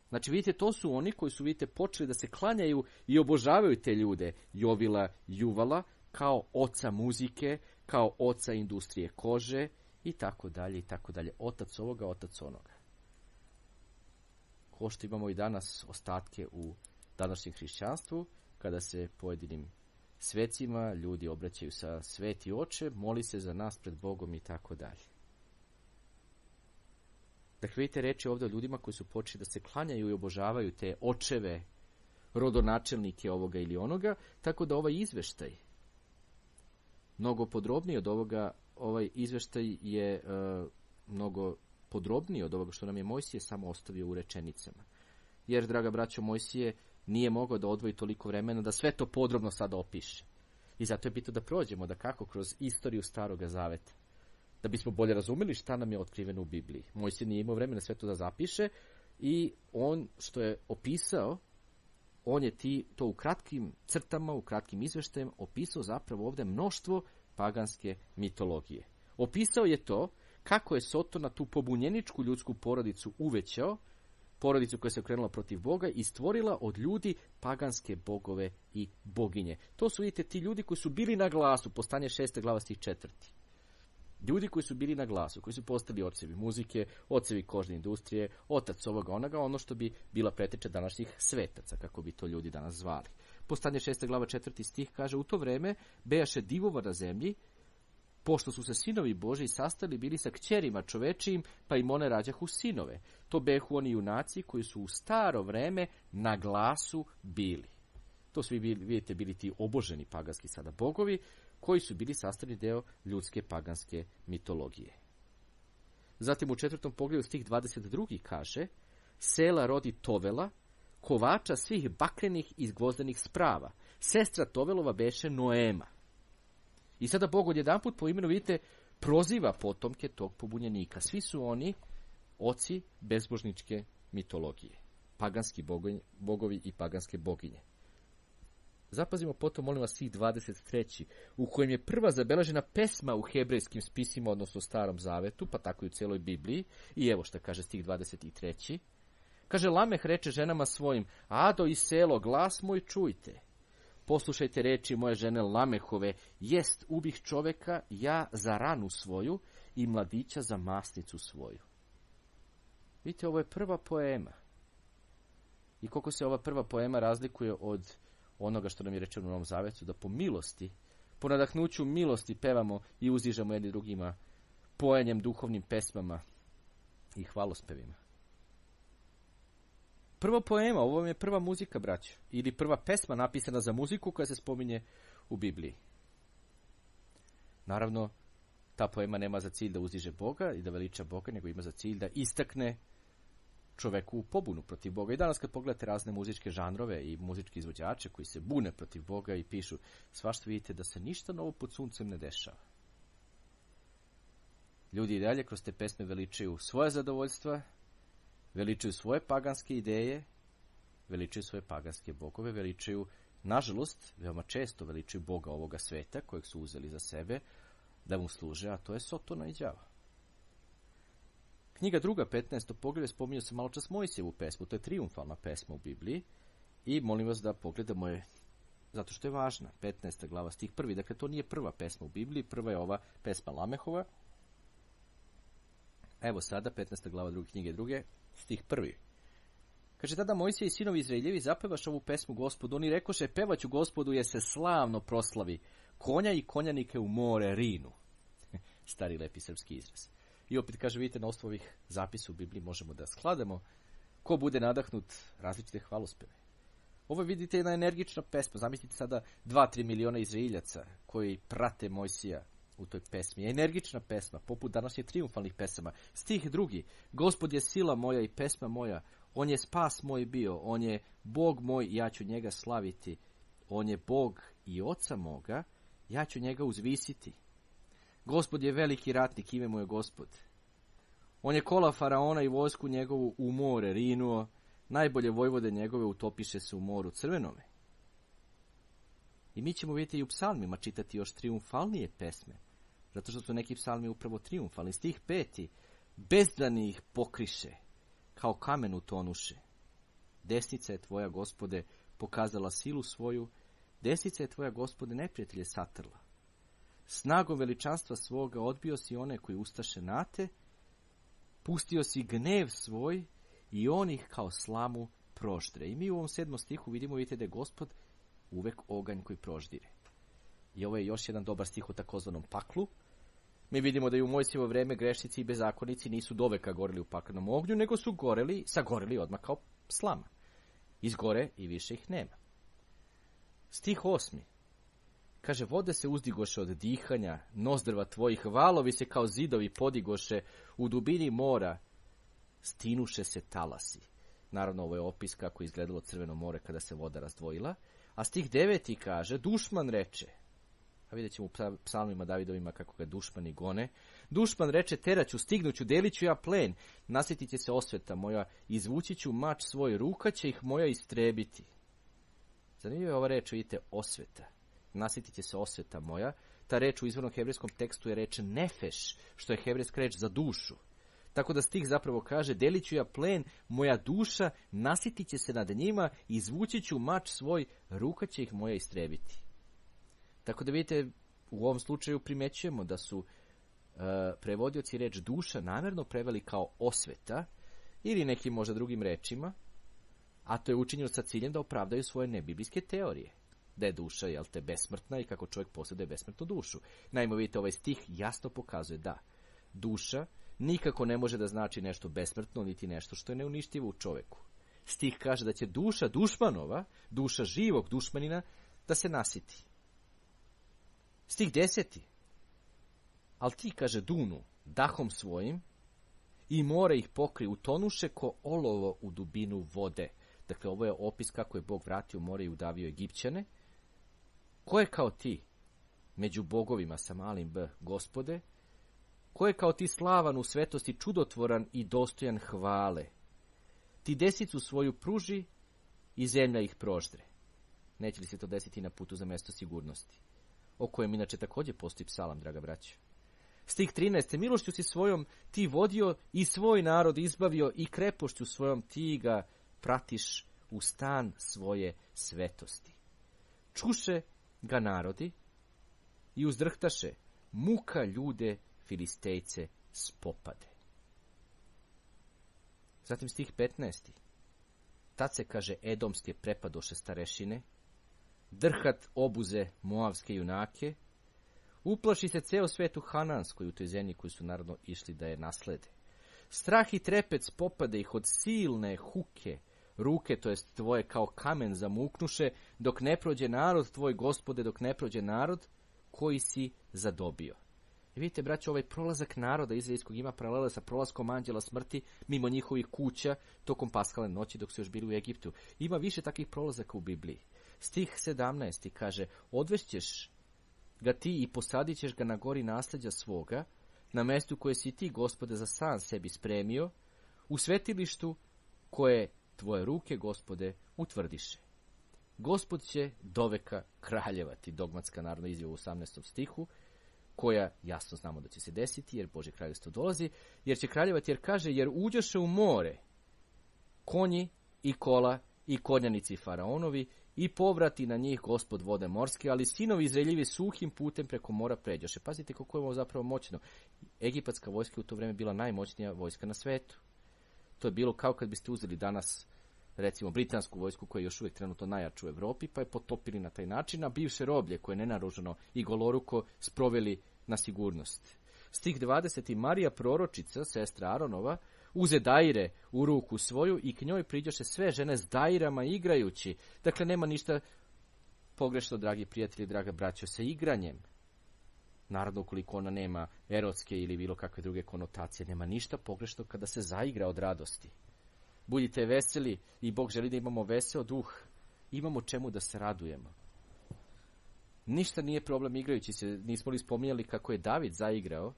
Znači, vidite, to su oni koji su, vidite, počeli da se klanjaju i obožavaju te ljude, Jovila, Juvala, kao oca muzike, kao oca industrije kože, i tako dalje, i tako dalje. Otac ovoga, otac onoga. Ko što imamo i danas ostatke u današnjem hrišćanstvu, kada se pojedinim svecima ljudi obraćaju sa sveti oče, moli se za nas pred Bogom i tako dalje. Dakle, vidite reči ovdje o ljudima koji su počeli da se klanjaju i obožavaju te očeve, rodonačelnike ovoga ili onoga, tako da ovaj izveštaj, mnogo podrobniji od ovoga, ovaj izveštaj je mnogo podrobniji od ovoga što nam je Mojsije samo ostavio u rečenicama. Jer, draga braćo, Mojsije nije mogao da odvoji toliko vremena da sve to podrobno sada opiše. I zato je bitno da prođemo, da kako kroz istoriju Staroga Zaveta, da bismo bolje razumeli šta nam je otkriveno u Bibliji. Mojsije nije imao vremena sve to da zapiše i on što je opisao, on je to u kratkim crtama, u kratkim izveštajem opisao zapravo ovdje mnoštvo paganske mitologije. Opisao je to kako je Soton na tu pobunjeničku ljudsku porodicu uvećao, porodicu koja se okrenula protiv Boga i stvorila od ljudi paganske bogove i boginje. To su, vidite, ti ljudi koji su bili na glasu, Postanje 6. glava stih 4. Ljudi koji su bili na glasu, koji su postali ocevi muzike, ocevi kožne industrije, otac ovoga onoga, ono što bi bila preteča današnjih svetaca, kako bi to ljudi danas zvali. Postanje 6. glava 4. stih kaže, u to vreme bejaše divova na zemlji, pošto su se sinovi Božji sastali bili sa kćerima čovečijim, pa im one rađahu sinove. To behu oni junaci koji su u staro vreme na glasu bili. To su, vidite, bili ti oboženi paganski sada bogovi, koji su bili sastavni deo ljudske paganske mitologije. Zatim u 4. poglavlju stih 22. kaže, Sela rodi Tovela, kovača svih bakrenih i gvozdenih sprava. Sestra Tovelova beše Noema. I sada Bog odjedanput po imenu, vidite, proziva potomke tog pobunjenika. Svi su oni oci bezbožničke mitologije. Paganski bogovi i paganske boginje. Zapazimo potom, molim vas, stih 23. u kojem je prva zabeležena pesma u hebrejskim spisima, odnosno Starom Zavetu, pa tako i u celoj Bibliji. I evo šta kaže stih 23. Kaže, Lameh reče ženama svojim, Ado i Selo, glas moj čujte. Poslušajte reči moje žene Lamehove, jest ubih čoveka ja za ranu svoju i mladića za masnicu svoju. Vidite, ovo je prva poema. I koliko se ova prva poema razlikuje od onoga što nam je rečeno u Novom Zavetu, da po milosti, po nadahnuću milosti pevamo i uzdižemo jedni drugima pojenjem, duhovnim pesmama i hvalospevima. Prva poema, ovo vam je prva muzika, braćo, ili prva pesma napisana za muziku koja se spominje u Bibliji. Naravno, ta poema nema za cilj da uzdiže Boga i da veliča Boga, nego ima za cilj da istakne čoveku u pobunu protiv Boga. I danas kad pogledate razne muzičke žanrove i muzičke izvođače koji se bune protiv Boga i pišu, svašta vidite da se ništa novo pod suncem ne dešava. Ljudi i dalje kroz te pesme veličaju svoje zadovoljstva, veličaju svoje paganske ideje, veličaju svoje paganske bogove, veličaju, nažalost, veoma često veličaju Boga ovoga sveta, kojeg su uzeli za sebe, da mu služe, a to je Sotona i đava. Knjiga 2. 15. poglavlje spominje se malo čas Mojsijevu pesmu, to je trijumfalna pesma u Bibliji, i molim vas da pogledamo je, zato što je važna, 15. glava stih 1. Dakle, to nije prva pesma u Bibliji, prva je ova pesma Lamehova. Evo sada, 15. glava 2. knjige 2. stih 1. Kaže, tada Mojsije i sinovi Izraeljevi zapevaš ovu pesmu Gospodu. Oni rekoše, pevaću Gospodu jer se slavno proslavi. Konja i konjanike u more rinu. Stari lepi srpski izraz. I opet kaže, vidite, na osnovu ovih zapisa u Bibliji možemo da sklademo ko bude nadahnut različite hvalospeve. Ovo je, vidite, jedna energična pesma. Zamislite sada 2-3 miliona Izraeljaca koji prate Mojsija u toj pesmi. Energična pesma, poput današnjih trijumfalnih pesama. Stih 2. Gospod je sila moja i pesma moja. On je spas moj bio. On je Bog moj i ja ću njega slaviti. On je Bog i oca moga. Ja ću njega uzvisiti. Gospod je veliki ratnik, ime mu je Gospod. On je kola faraona i vojsku njegovu u more rinuo. Najbolje vojvode njegove utopiše se u moru crvenome. I mi ćemo vidjeti i u psalmima čitati još trijumfalnije pesme, zato što su neki psalmi upravo trijumfalni. Stih 5. Bezdani ih pokriše, kao kamen utonuše. Desnica je tvoja, Gospode, pokazala silu svoju, desnica je tvoja, Gospode, neprijatelje satrla. Snagom veličanstva svoga odbio si one koji ustaše na te, pustio si gnev svoj i on ih kao slamu proždre. I mi u ovom 7. stihu vidite da je Gospod uvek oganj koji proždire. I ovo je još jedan dobar stih o takozvanom paklu. Mi vidimo da i u Mojsijevo vreme grešnici i bezakonici nisu doveka goreli u paklenom ognju, nego su sagoreli odmah kao slama. Izgore i više ih nema. Stih 8. Kaže, vode se uzdigoše od dihanja, nozdrva tvojih, valovi se kao zidovi podigoše, u dubini mora stinuše se talasi. Naravno, ovo je opis kako je izgledalo Crveno more kada se voda razdvojila. A stih 9. kaže, dušman reče, a vidjet ćemo u psalmima Davidovima kako ga dušmani gone, dušman reče, teraću, stignuću, delit ću ja plen, nasjetit će se osveta moja, izvući ću mač svoj, ruka će ih moja istrebiti. Zanimljiva je ova reč, vidite, osveta. Nasjetit će se osveta moja. Ta reč u izvornom hebrejskom tekstu je reč nefeš, što je hebrejska reč za dušu. Tako da stih zapravo kaže, delit ću ja plen, moja duša, nasjetit će se nad njima, izvući ću mač svoj, ruka će ih moja istrebiti. Tako da vidite, u ovom slučaju primećujemo da su prevodioci reč duša namjerno preveli kao osveta, ili nekim možda drugim rečima, a to je učinjeno sa ciljem da opravdaju svoje nebiblijske teorije. Da je duša, jel te, besmrtna i kako čovjek posjeduje besmrtnu dušu. Naime, vidite, ovaj stih jasno pokazuje da duša nikako ne može da znači nešto besmrtno, niti nešto što je neuništivo u čovjeku. Stih kaže da će duša dušmanova, duša živog dušmanina, da se nasiti. Stih 10. Al ti, kaže, dunu dahom svojim i more ih pokri, utonuše ko olovo u dubinu vode. Dakle, ovo je opis kako je Bog vratio more i udavio Egipćane. Ko je kao ti među bogovima sa malim b, Gospode? Ko je kao ti slavan u svetosti, čudotvoran i dostojan hvale? Ti desicu svoju pruži i zemlja ih proždre. Neće li se to desiti na putu za mjesto sigurnosti? O kojem inače također postoji psalam, draga braća. Stih 13. Milošću si svojom ti vodio i svoj narod izbavio i krepošću svojom ti ga pratiš u stan svoje svetosti. Čuše ga narodi i uzdrhtaše, muka ljude Filistejce spopade. Zatim stih 15. Tad se, kaže, edomske prepadoše starešine, drhat obuze moavske junake, uplaši se ceo svet u Hananskoj, u toj zemlji koju su naravno išli da je naslede. Strah i trepet spopade ih od silne huke, ruke, to jest tvoje kao kamen zamuknuše, dok ne prođe narod tvoj, Gospode, dok ne prođe narod koji si zadobio. I vidite, braćo, ovaj prolazak naroda izraelskog ima paralele sa prolaskom anđela smrti mimo njihovih kuća tokom paskalne noći dok su još bili u Egiptu. Ima više takvih prolazaka u Bibliji. Stih 17. kaže, odvešćeš ga ti i posadit ćeš ga na gori nasljeđa svoga, na mjestu koje si ti, Gospode, za san sebi spremio, u svetilištu koje tvoje ruke, Gospode, utvrdiše. Gospod će doveka kraljevati, dogmatska narodna izjava u 18. stihu, koja jasno znamo da će se desiti, jer Božje kraljevstvo dolazi, jer će kraljevati, jer kaže, jer uđoše u more konji i kola i konjanici faraonovi i povrati na njih Gospod vode morske, ali sinovi Izraeljevi suhim putem preko mora pređoše. Pazite kako je ovo zapravo moćno. Egipatska vojska u to vrijeme bila najmoćnija vojska na svetu. To je bilo kao kad biste uzeli danas, recimo, britansku vojsku koja je još uvijek trenutno najjača u Europi, pa je potopili na taj način, a bivše roblje koje je nenaruženo i goloruko sproveli na sigurnost. Stih 20. Marija proročica, sestra Aronova, uze daire u ruku svoju i k njoj priđoše sve žene s dairama igrajući. Dakle, nema ništa pogrešno, dragi prijatelji, draga braćo, sa igranjem. Naravno, ukoliko ona nema erotske ili bilo kakve druge konotacije, nema ništa pogrešno kada se zaigra od radosti. Budite veseli i Bog želi da imamo veseo duh. Imamo čemu da se radujemo. Ništa nije problem igrajući se. Nismo li spominjali kako je David zaigrao?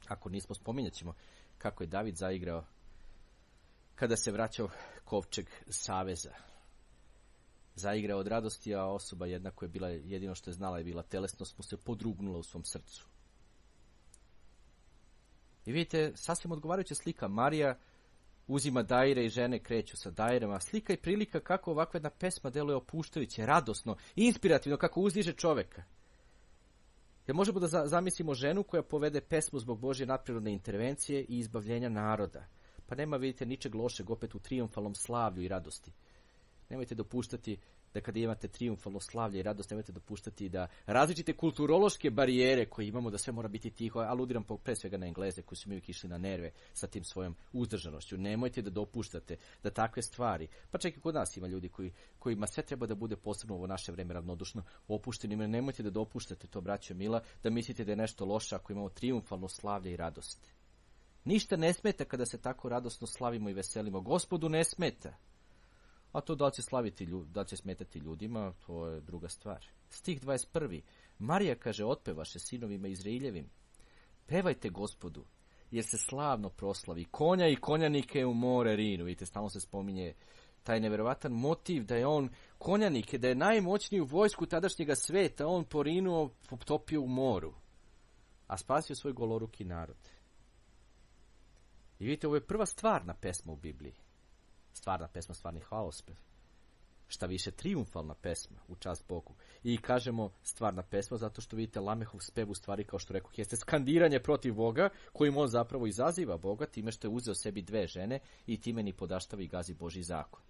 Ako nismo, spominjat ćemo kako je David zaigrao kada se vraćao kovčeg saveza. Zaigrao od radosti, a osoba jedna koja je bila jedino što je znala je bila telesnost, mu se podrugnula u svom srcu. I vidite, sasvim odgovarajuća slika. Marija uzima daire i žene kreću sa dairama. Slika i prilika kako ovakva jedna pesma deluje opuštajuće, radosno, inspirativno, kako uzdiže čoveka. Jer možemo da zamislimo ženu koja povede pesmu zbog Božje nadprirodne intervencije i izbavljenja naroda. Pa nema, vidite, ničeg lošeg opet u trijumfalnom slavlju i radosti. Nemojte dopuštati da kada imate trijumfalno slavlje i radost, nemojte dopuštati da različite kulturološke barijere koje imamo, da sve mora biti tiho, aludiram pre svega na Engleze koji su mi uvijek išli na nerve sa tim svojom uzdržanošću. Nemojte da dopuštate da takve stvari, pa čak i kod nas ima ljudi kojima sve treba da bude posebno u ovo naše vreme ravnodušno opušteno. Nemojte da dopuštate to, braćo mila, da mislite da je nešto loše ako imamo trijumfalno slavlje i radost. Ništa ne smeta kada se tako radosno slavimo i veselimo. Gospodu ne smeta. A to da li će smetati ljudima, to je druga stvar. Stih 21. Marija kaže, otpevaše sinovima Izraeljevim. Pevajte Gospodu, jer se slavno proslavi. Konja i konjanike u more rinu. Vidite, stalno se spominje taj neverovatan motiv da je on konjanike, da je najmoćniji u vojsku tadašnjega sveta, on porinuo, potopio u moru, a spasio svoj goloruki narod. I vidite, ovo je prva stvarna pesma u Bibliji. Stvarna pesma, stvarni hvalospev. Šta više, trijumfalna pesma u čast Bogu. I kažemo stvarna pesma zato što vidite Lamehov spev u stvari, kao što rekoh, jeste skandiranje protiv Boga, kojim on zapravo izaziva Boga time što je uzeo sebi dve žene i time ni podaštava i gazi Božji zakon.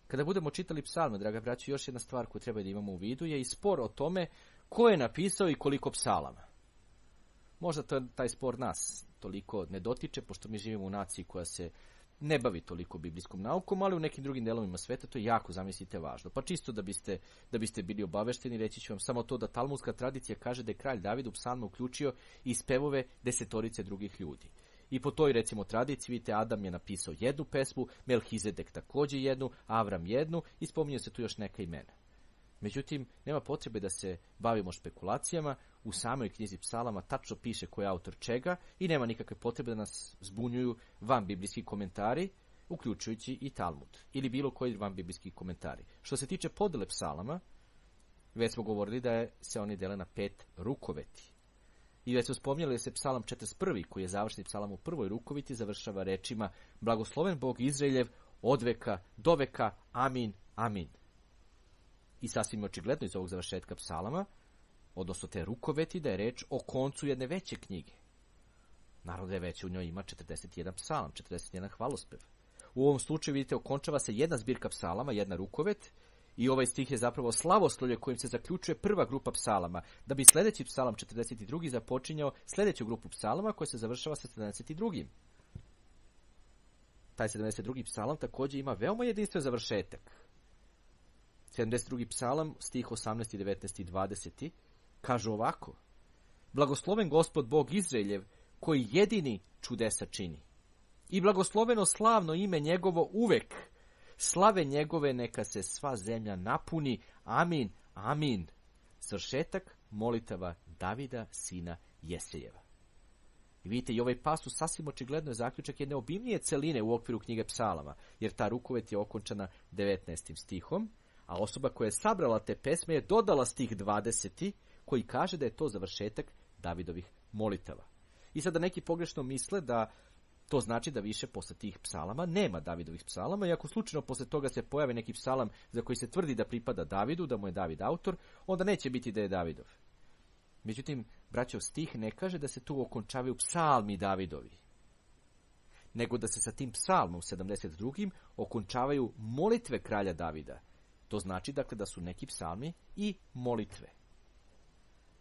Kada budemo čitali psalme, draga braćo, još jedna stvar koju treba da imamo u vidu je i spor o tome ko je napisao i koliko psalama. Možda taj spor nas toliko ne dotiče, pošto mi živimo u naciji koja se ne bavi toliko biblijskom naukom, ali u nekim drugim delovima sveta to je jako, zamislite, važno. Pa čisto da biste bili obavešteni, reći ću vam samo to da talmudska tradicija kaže da je kralj David u psalme uključio i spevove 10 drugih ljudi. I po toj, recimo, tradiciji, vidite, Adam je napisao jednu pesmu, Melhizedek također jednu, Avram jednu i spominju se tu još neka imena. Međutim, nema potrebe da se bavimo špekulacijama, u samoj knjizi psalama tačno piše ko je autor čega i nema nikakve potrebe da nas zbunjuju van biblijski komentari, uključujući i Talmud ili bilo koji van biblijski komentari. Što se tiče podele psalama, već smo govorili da se oni dele na 5 rukoveti. I već smo spominjali da se psalam 41. koji je završni psalam u prvoj rukoviti završava rečima blagosloven Bog Izraeljev od veka do veka, amin, amin. I sasvim očigledno iz ovog završetka psalama, odnosno te rukoveti, da je reč o koncu jedne veće knjige. Naravno da je već u njoj ima 41 psalam, 41 hvalospev. U ovom slučaju, vidite, okončava se jedna zbirka psalama, jedna rukovet, i ovaj stih je zapravo slavoslovlje kojim se zaključuje prva grupa psalama, da bi sljedeći psalam 42. započinjao sljedeću grupu psalama koja se završava sa 72. Taj 72. psalam također ima veoma jedinstven završetak. 72. psalam, stih 18, 19 i 20, kaže ovako: blagosloven Gospod Bog Izraeljev, koji jedini čudesa čini. I blagosloveno slavno ime njegovo uvek. Slave njegove neka se sva zemlja napuni. Amin, amin. Svršetak molitava Davida, sina Jesejeva. I vidite, i ovaj pasus sasvim očigledno je zaključak jedne obimnije celine u okviru knjige psalama, jer ta rukovet je okončana 19. stihom, a osoba koja je sabrala te pesme je dodala stih 20. koji kaže da je to završetak Davidovih molitava. I sada neki pogrešno misle da to znači da više posle tih psalama nema Davidovih psalama, i ako slučajno posle toga se pojavi neki psalam za koji se tvrdi da pripada Davidu, da mu je David autor, onda neće biti da je Davidov. Međutim, braćov, stih ne kaže da se tu okončavaju psalmi Davidovi, nego da se sa tim psalmom 72. okončavaju molitve kralja Davida. To znači, dakle, da su neki psalmi i molitve.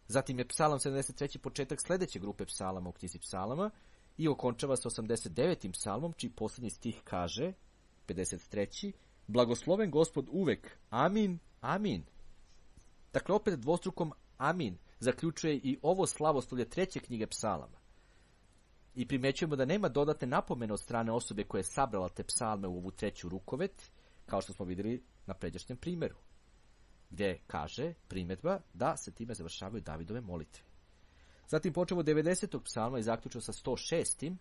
Zatim je psalam 73. početak sljedeće grupe psalama u knjizi psalama i okončava se 89. psalmom, čiji posljednji stih kaže, 53. blagosloven Gospod uvek, amin, amin. Dakle, opet dvostrukom amin zaključuje i ovo slavoslovlje treće knjige psalama. I primjećujemo da nema dodatne napomene od strane osobe koja je sabrala te psalme u ovu treću rukovet, kao što smo vidjeli na pređašnjem primjeru, gdje kaže primjedba da se time završavaju Davidove molitve. Zatim počemo od 90. psalma i zaključno sa 106.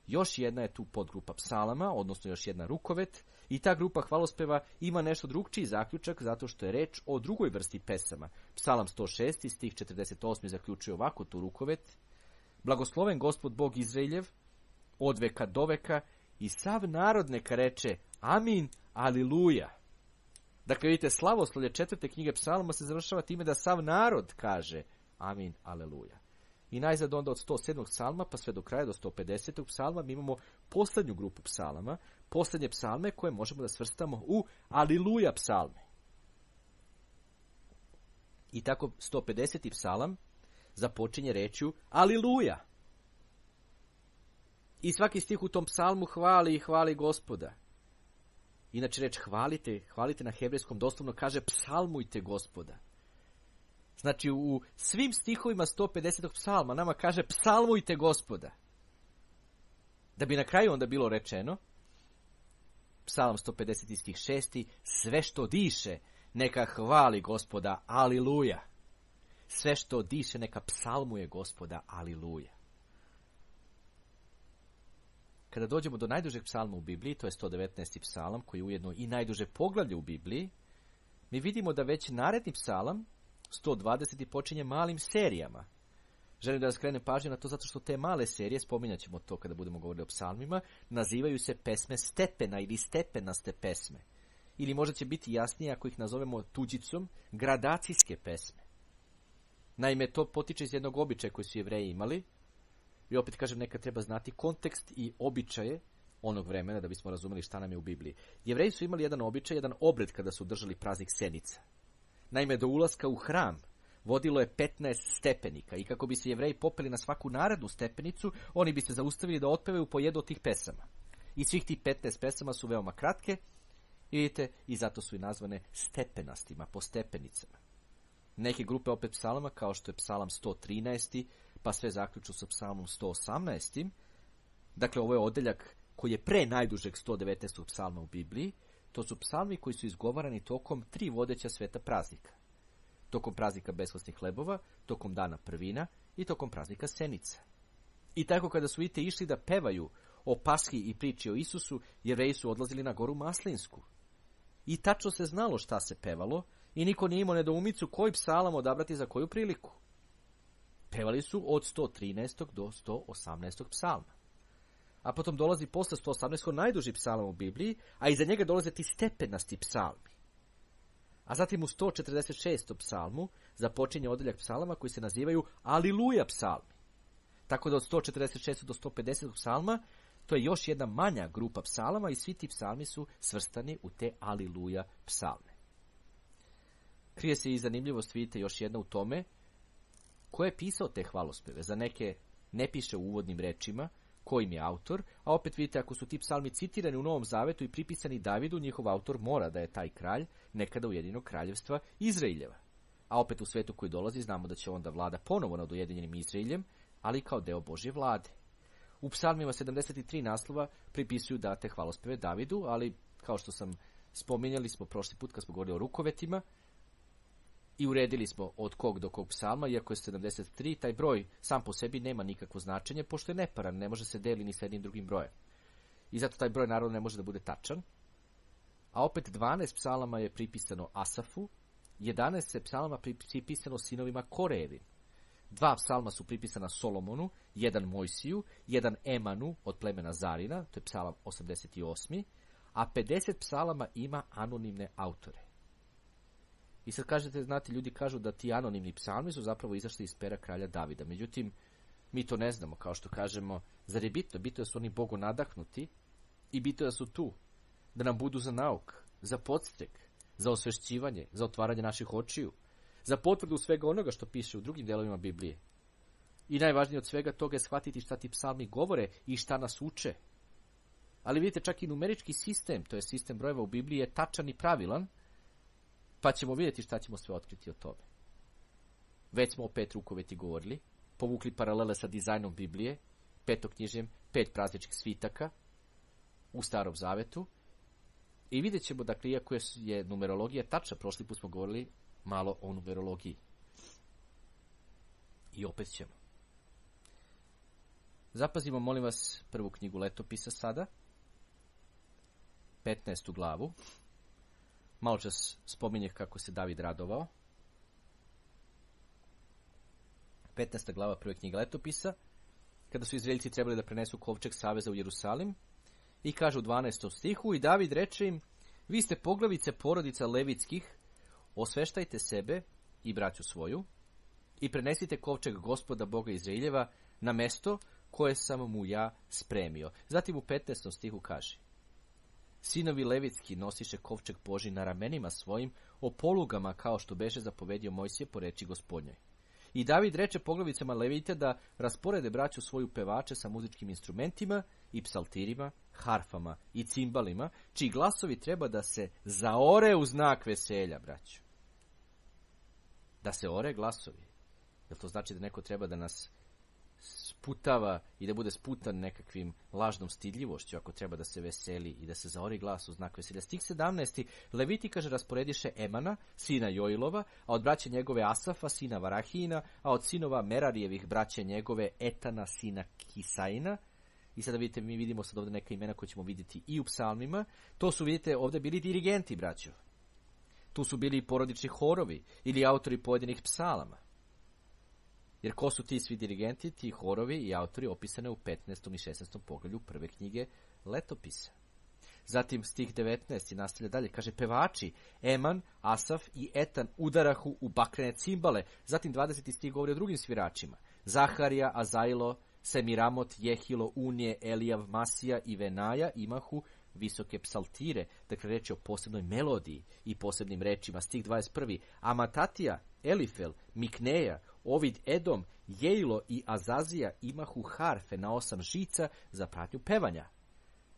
Još jedna je tu podgrupa psalama, odnosno još jedna rukovet, i ta grupa hvalospeva ima nešto drugčiji zaključak zato što je reč o drugoj vrsti pesama. Psalam 106. stih 48. zaključuje ovako tu rukovet: blagosloven Gospod Bog Izraeljev od veka do veka, i sav narod neka reče amin, aliluja. Dakle, vidite, slavoslovlje četvrte knjige psalma se završava time da sav narod kaže amin, aleluja. I najzad onda od 107. psalma pa sve do kraja do 150. psalma mi imamo posljednju grupu psalama, posljednje psalme koje možemo da svrstamo u Aliluja psalme. I tako 150. psalam započinje rečju Aliluja. I svaki stih u tom psalmu hvali i hvali Gospoda. Inače reč hvalite na hebrejskom doslovno kaže psalmujte Gospoda. Znači u svim stihovima 150. psalma nama kaže psalmujte Gospoda. Da bi na kraju onda bilo rečeno, psalam 150. stih 6. Sve što diše neka hvali Gospoda, aliluja. Sve što diše neka psalmuje Gospoda, aliluja. Kada dođemo do najdužeg psalma u Bibliji, to je 119. psalam, koji je ujedno i najduže poglavlje u Bibliji, mi vidimo da već naredni psalam, 120. počinje malim serijama. Želim da skrenem pažnju na to zato što te male serije, spominjat ćemo to kada budemo govorili o psalmima, nazivaju se pesme stepena ili stepenaste pesme. Ili možda će biti jasnije ako ih nazovemo tuđicom, gradacijske pesme. Naime, to potiče iz jednog običaja koji su Jevreji imali. I opet kažem, nekad treba znati kontekst i običaje onog vremena da bismo razumeli šta nam je u Bibliji. Jevreji su imali jedan običaj, jedan obred kada su držali praznik Senica. Naime, do ulaska u hram vodilo je 15 stepenika i kako bi se Jevreji popeli na svaku narednu stepenicu, oni bi se zaustavili da otpevaju po jednu od tih pesama. I svih tih 15 pesama su veoma kratke i vidite, i zato su i nazvane stepenastima, po stepenicama. Neke grupe opet psalama, kao što je psalam 113. pa sve zaključno sa psalmom 118. Dakle, ovo je odeljak koji je pre najdužeg 119. psalma u Bibliji. To su psalmi koji su izgovarani tokom 3 vodeća sveta praznika. Tokom praznika beskvasnih hlebova, tokom dana prvina i tokom praznika Senica. I tako kada su vidite išli da pevaju o Paski i priči o Isusu, Jevreji su odlazili na goru Maslinsku. I tačno se znalo šta se pevalo i niko nije imao nedoumicu koji psalam odabrati za koju priliku. Pevali su od 113. do 118. psalma. A potom dolazi posle 118. najduži psalam u Bibliji, a iza njega dolaze ti stepenasti psalmi. A zatim u 146. psalmu započinje odeljak psalama koji se nazivaju Aliluja psalmi. Tako da od 146. do 150. psalma to je još jedna manja grupa psalama i svi ti psalmi su svrstani u te Aliluja psalme. Krije se i zanimljivost, vidite, još jedna u tome, ko je pisao te hvalospeve. Za neke ne piše u uvodnim rečima ko im je autor, a opet vidite, ako su ti psalmi citirani u Novom Zavetu i pripisani Davidu, njihov autor mora da je taj kralj nekada Ujedinjenog kraljevstva Izraeljeva. A opet u svetu koji dolazi znamo da će onda vlada ponovo nad Ujedinjenim Izraeljem, ali kao deo Božje vlade. U psalmima 73 naslova pripisuju date hvalospeve Davidu, ali kao što sam spominjali smo prošli put kad smo govorili o rukovetima, i uredili smo od kog do kog psalma, iako je 73, taj broj sam po sebi nema nikakvo značenje, pošto je neparan, ne može se deli ni sa jednim drugim brojem. I zato taj broj naravno ne može da bude tačan. A opet 12 psalama je pripisano Asafu, 11 psalama pripisano sinovima Korejevim. 2 psalma su pripisana Solomonu, 1 Mojsiju, 1 Emanu od plemena Zarina, to je psalam 88, a 50 psalama ima anonimne autore. I sad kažete, znate, ljudi kažu da ti anonimni psalmi su zapravo izašli iz pera kralja Davida. Međutim, mi to ne znamo, kao što kažemo, zar je bitno? Bitno da su oni Bogu nadahnuti i bitno da su tu, da nam budu za nauk, za podstrek, za osvešćivanje, za otvaranje naših očiju, za potvrdu svega onoga što piše u drugim delovima Biblije. I najvažnije od svega toga je shvatiti šta ti psalmi govore i šta nas uče. Ali vidite, čak i numerički sistem, to je sistem brojeva u Bibliji, je tačan i pravilan, pa ćemo vidjeti šta ćemo sve otkriti o tome. Već smo o 5 rukoveti govorili, povukli paralele sa dizajnom Biblije, petoknjižjem, 5 prazničkih svitaka u Starom Zavetu i vidjet ćemo, dakle, iako je numerologija tačna, prošli put smo govorili malo o numerologiji. I opet ćemo. Zapazimo, molim vas, prvu knjigu Letopisa sada, 15. glavu. Malo čas spominje kako se David radovao. 15. glava prve knjige Letopisa, kada su Izraeljci trebali da prenesu kovčeg saveza u Jerusalim, i kaže u 12. stihu, i David reče im, vi ste poglavice porodica levitskih, osveštajte sebe i braću svoju, i prenesite kovčeg Gospoda Boga Izraeljeva na mesto koje sam mu ja spremio. Zatim u 15. stihu kaže: Sinovi levitski nosiše kovčeg Božji na ramenima svojim, o polugama, kao što beše zapovedio Mojsije po reči Gospodnjoj. I David reče poglavicama levite da rasporede braću svoju pevače sa muzičkim instrumentima i psaltirima, harfama i cimbalima, čiji glasovi treba da se zaore u znak veselja, braću. Da se ore glasovi. Jel to znači da neko treba da nas sputava i da bude sputan nekakvim lažnom stidljivošću, ako treba da se veseli i da se zaori glas u znak veselja? Stih 17. Leviti, kaže, rasporediše Emana, sina Joilova, a od braće njegove Asafa, sina Varahijina, a od sinova Merarijevih braće njegove Etana, sina Kisaina. I sada vidite, mi vidimo sad ovdje neka imena koje ćemo vidjeti i u psalmima. To su, vidite, ovdje bili dirigenti, braćo. Tu su bili i porodični horovi ili autori pojedinih psalama. Jer ko su ti svi dirigenti, ti horovi i autori opisane u 15. i 16. poglavlju prve knjige Letopisa. Zatim stih 19. nastavlja dalje, kaže: pevači Eman, Asaf i Etan udarahu u bakrene cimbale. Zatim 20. stih govori o drugim sviračima: Zaharija, Azailo, Semiramot, Jehilo, Unije, Elijav, Masija i Venaja imahu visoke psaltire. Dakle, reč je o posebnoj melodiji i posebnim rečima. Stih 21. Amatatija, Elifel, Mikneja, Ovid Edom, Jejlo i Azazija imahu harfe na 8 žica za pratnju pevanja.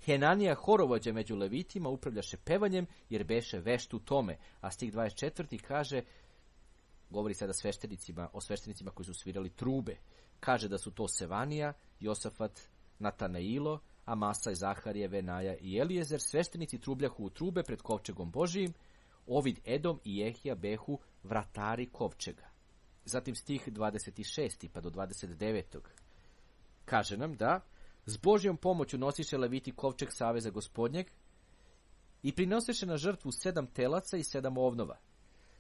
Henanija, horovođa među levitima, upravljaše pevanjem jer beše vešt u tome. A stih 24. kaže, govori sada o sveštenicima koji su svirali trube. Kaže da su to Sevanija, Josafat, Natanailo, Amasa, Zaharije, Venaja i Elijezer. Sveštenici trubljahu u trube pred kovčegom Božijim. Ovid Edom i Jehija behu vratari kovčega. Zatim stih 26. pa do 29. kaže nam da s Božjom pomoću nosiše leviti kovčeg saveza Gospodnjeg i prinosiše na žrtvu 7 telaca i 7 ovnova.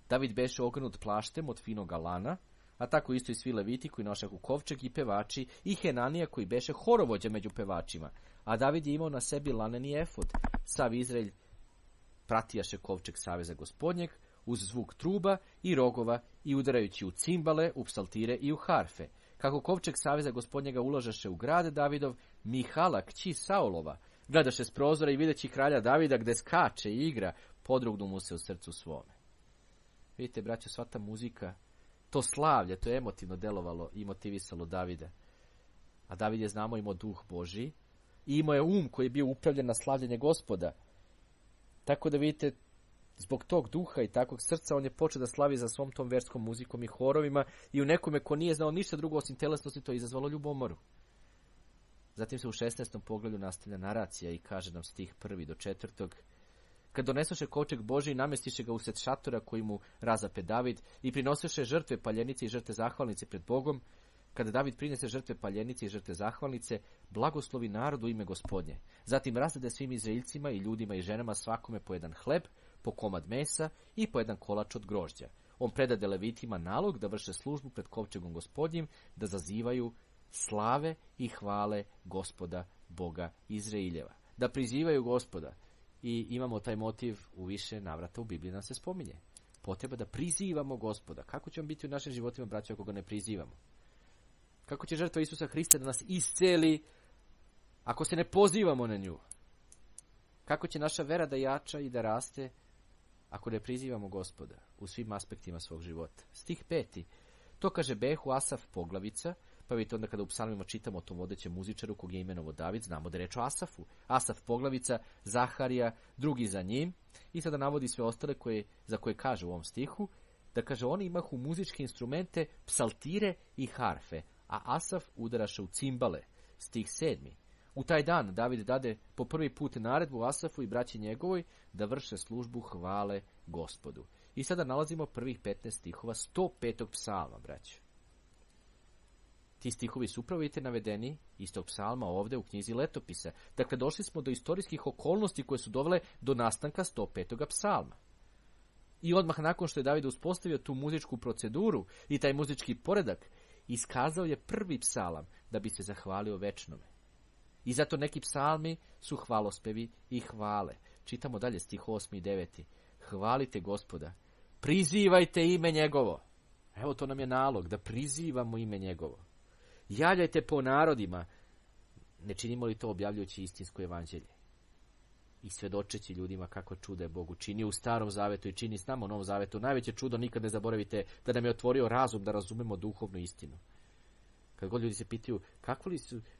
David beše ogrnut plaštem od finoga lana, a tako isto i svi leviti koji nošahu kovčeg i pevači, i Henanija koji beše horovođa među pevačima. A David je imao na sebi laneni efod. Sav Izraelj pratijaše kovčeg saveza Gospodnjeg uz zvuk truba i rogova i udarajući u cimbale, u psaltire i u harfe. Kako kovčeg saveza Gospodnjega uložaše u grad Davidov, Mihala, kći Saulova, gledaše s prozora i videći kralja Davida gde skače i igra, podrugnu mu se u srcu svome. Vidite, braćo, sva ta muzika, to slavlje, to je emotivno delovalo i motivisalo Davida. A David je, znamo, imao duh Božji i imao je um koji je bio upravljen na slavljenje Gospoda. Tako da vidite, zbog tog duha i takvog srca on je počeo da slavi za svom tom verskom muzikom i horovima i u nekome ko nije znao ništa drugo osim telesnosti, to je izazvalo ljubomoru. Zatim se u 16. poglavlju nastavlja naracija i kaže nam stih 1. do 4. Kad donesoše kovčeg Božji, namestiše ga usred šatora koji mu razape David i prinoseše žrtve paljenice i žrtve zahvalnice pred Bogom. Kada David prinese žrtve paljenice i žrtve zahvalnice, blagoslovi narodu ime Gospodnje. Zatim razdade svim Izraeljcima i ljudima i ženama svakome po jedan hleb, po komad mesa i po jedan kolač od grožđa. On predade levitima nalog da vrše službu pred kovčegom Gospodnjim, da zazivaju slave i hvale Gospoda Boga Izraeljeva. Da prizivaju Gospoda. I imamo taj motiv u više navrata u Bibliji nam se spominje. Potreba da prizivamo Gospoda. Kako će on biti u našim životima, braćo, ako ga ne prizivamo? Kako će žrtva Isusa Hrista da nas isceli ako se ne pozivamo na nju? Kako će naša vera da jača i da raste ako ne prizivamo Gospoda u svim aspektima svog života? Stih 5. To kaže behu Asaf poglavica, pa vidite onda kada u psalmima čitamo o tom vodećem muzičaru kog je imenovo David, znamo da je reč o Asafu. Asaf poglavica, Zaharija, drugi za njim, i sada navodi sve ostale za koje kaže u ovom stihu, da kaže oni imahu muzičke instrumente, psaltire i harfe, a Asaf udaraše u cimbale. Stih 7. U taj dan David dade po prvi put naredbu Asafu i braći njegovoj da vrše službu hvale Gospodu. I sada nalazimo prvih 15 stihova 105. psalma, braći. Ti stihovi su upravo navedeni istog psalma ovdje u knjizi Letopisa. Dakle, došli smo do istorijskih okolnosti koje su dovele do nastanka 105. psalma. I odmah nakon što je David uspostavio tu muzičku proceduru i taj muzički poredak, iskazao je prvi psalam da bi se zahvalio večnome. I zato neki psalmi su hvalospevi i hvale. Čitamo dalje stih 8. i 9. Hvalite Gospoda, prizivajte ime njegovo. Evo, to nam je nalog, da prizivamo ime njegovo. Javljajte po narodima. Ne činimo li to objavljujući istinsko evanđelje? I svedočeći ljudima kako čuda je Bog učinio u Starom zavetu i čini s nama u Novom zavetu. Najveće čudo, nikad ne zaboravite, da nam je otvorio razum da razumemo duhovnu istinu. Kad god ljudi se pitaju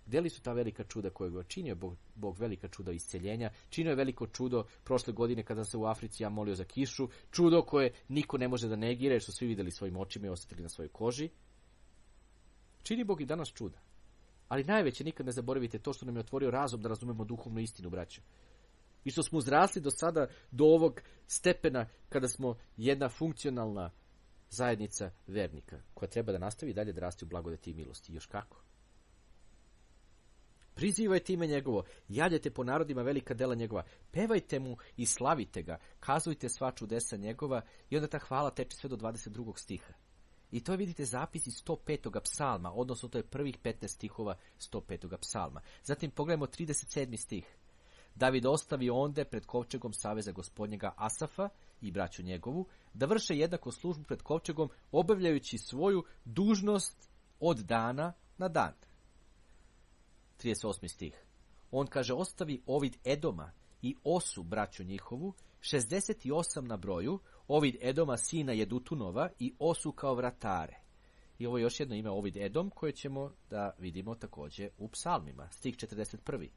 gdje li su ta velika čuda koje je činio Bog velika čuda isceljenja, činio je veliko čudo prošle godine kada se u Africi ja molio za kišu, čudo koje niko ne može da negira jer su svi vidjeli svojim očima i osjetili na svojoj koži. Čini Bog i danas čuda. Ali najveće, nikad ne zaboravite, to što nam je otvorio razum da razumemo duhovnu istinu, braćo. I što smo uzrasli do sada, do ovog stepena kada smo jedna funkcionalna zajednica vernika, koja treba da nastavi dalje da rasti u blagodati i milosti. Još kako? Prizivajte ime njegovo, javljajte po narodima velika dela njegova, pevajte mu i slavite ga, kazujte sva čudesa njegova, i onda ta hvala teče sve do 22. stiha. I to je, vidite, zapis iz 105. psalma, odnosno to je prvih 15 stihova 105. psalma. Zatim pogledajmo 37. stih. David ostavi onde pred kovčegom saveza gospodnjega Asafa i braću njegovu, da vrše jednako službu pred kovčegom, obavljajući svoju dužnost od dana na dan. 38. stih. On kaže, ostavi Ovid Edoma i Osu braću njihovu, 68 na broju, Ovid Edoma sina Jedutunova i Osu kao vratare. I ovo je još jedno ime, Ovid Edom, koje ćemo da vidimo također u psalmima. Stih 41.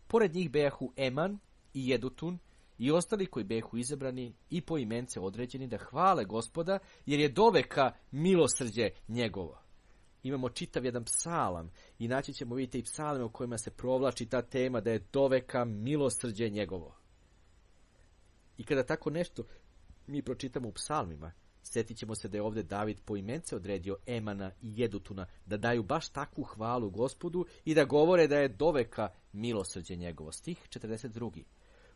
Pored njih bejahu Eman i Jedutun i ostali koji bejahu izabrani i po imence određeni da hvale Gospoda, jer je doveka milosrđe njegovo. Imamo čitav jedan psalam i naći ćemo, vidjeti, i psalme u kojima se provlači ta tema da je doveka milosrđe njegovo. I kada tako nešto mi pročitamo u psalmima, sjetit ćemo se da je ovdje David po imence odredio Emana i Jedutuna da daju baš takvu hvalu Gospodu i da govore da je doveka milosrđe njegovo. Stih 42.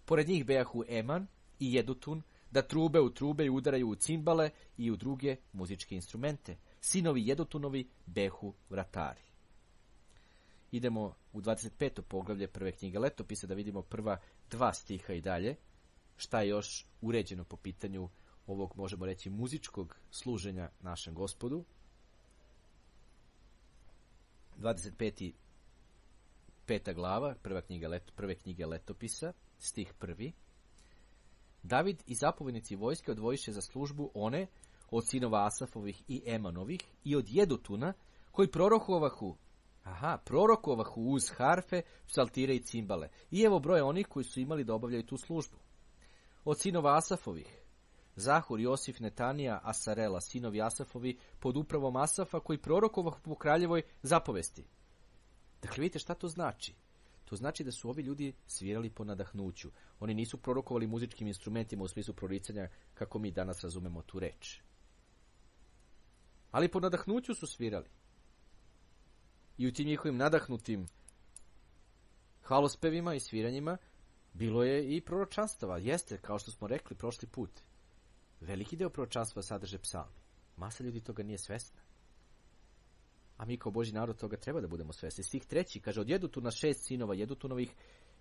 Pored njih bejahu Eman i Jedutun da trube u trube i udaraju u cimbale i u druge muzičke instrumente. Sinovi Jedutunovi behu vratari. Idemo u 25. poglavlje prve knjige Letopisa da vidimo prva 2 stiha i dalje. Šta je još uređeno po pitanju ovog, možemo reći, muzičkog služenja našem Gospodu. 25. 5. glava, prve knjige Letopisa, stih 1. David i zapovjednici vojske odvojiše za službu one od sinova Asafovih i Emanovih i od Jedutuna, koji prorokovahu uz harfe, psaltire i cimbale. I evo broje onih koji su imali da obavljaju tu službu. Od sinova Asafovih, Zahur, Josif, Netanija, Asarela, sinovi Asafovi, pod upravom Asafa, koji prorokovahu po kraljevoj zapovesti. Dakle, vidite šta to znači? To znači da su ovi ljudi svirali po nadahnuću. Oni nisu prorokovali muzičkim instrumentima u smislu proricanja kako mi danas razumemo tu reč. Ali po nadahnuću su svirali. I u tim njihovim nadahnutim hvalospevima i sviranjima bilo je i proročanstava. Jeste, kao što smo rekli prošli put. Veliki deo proročanstva sadrže psalmi. Masa ljudi toga nije svesna. A mi kao Božji narod toga treba da budemo svesni. Stih 3. kaže, od Jedutuna 6 sinova Jedutunovih,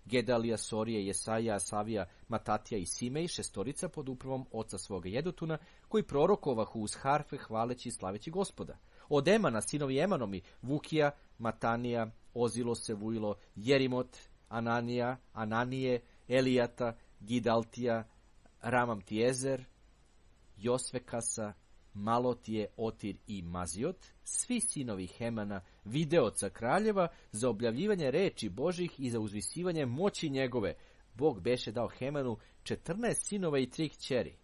Gedalija, Sorije, Jesaja, Asavija, Matatija i Simej, 6 pod upravom oca svoga Jedutuna, koji prorokovahu uz harfe hvaleći i slaveći Gospoda. Od Emana, sinovi Emanomi, Vukija, Matanija, Ozilo, Sevujilo, Jerimot, Ananije, Elijata, Gidaltija, Ramamtijezer, Josvekasa, Malotije, Otir i Maziot, svi sinovi Hemana, videoca kraljeva, za objavljivanje reči Božih i za uzvisivanje moći njegove. Bog beše dao Hemanu 14 sinova i 3 kćeri.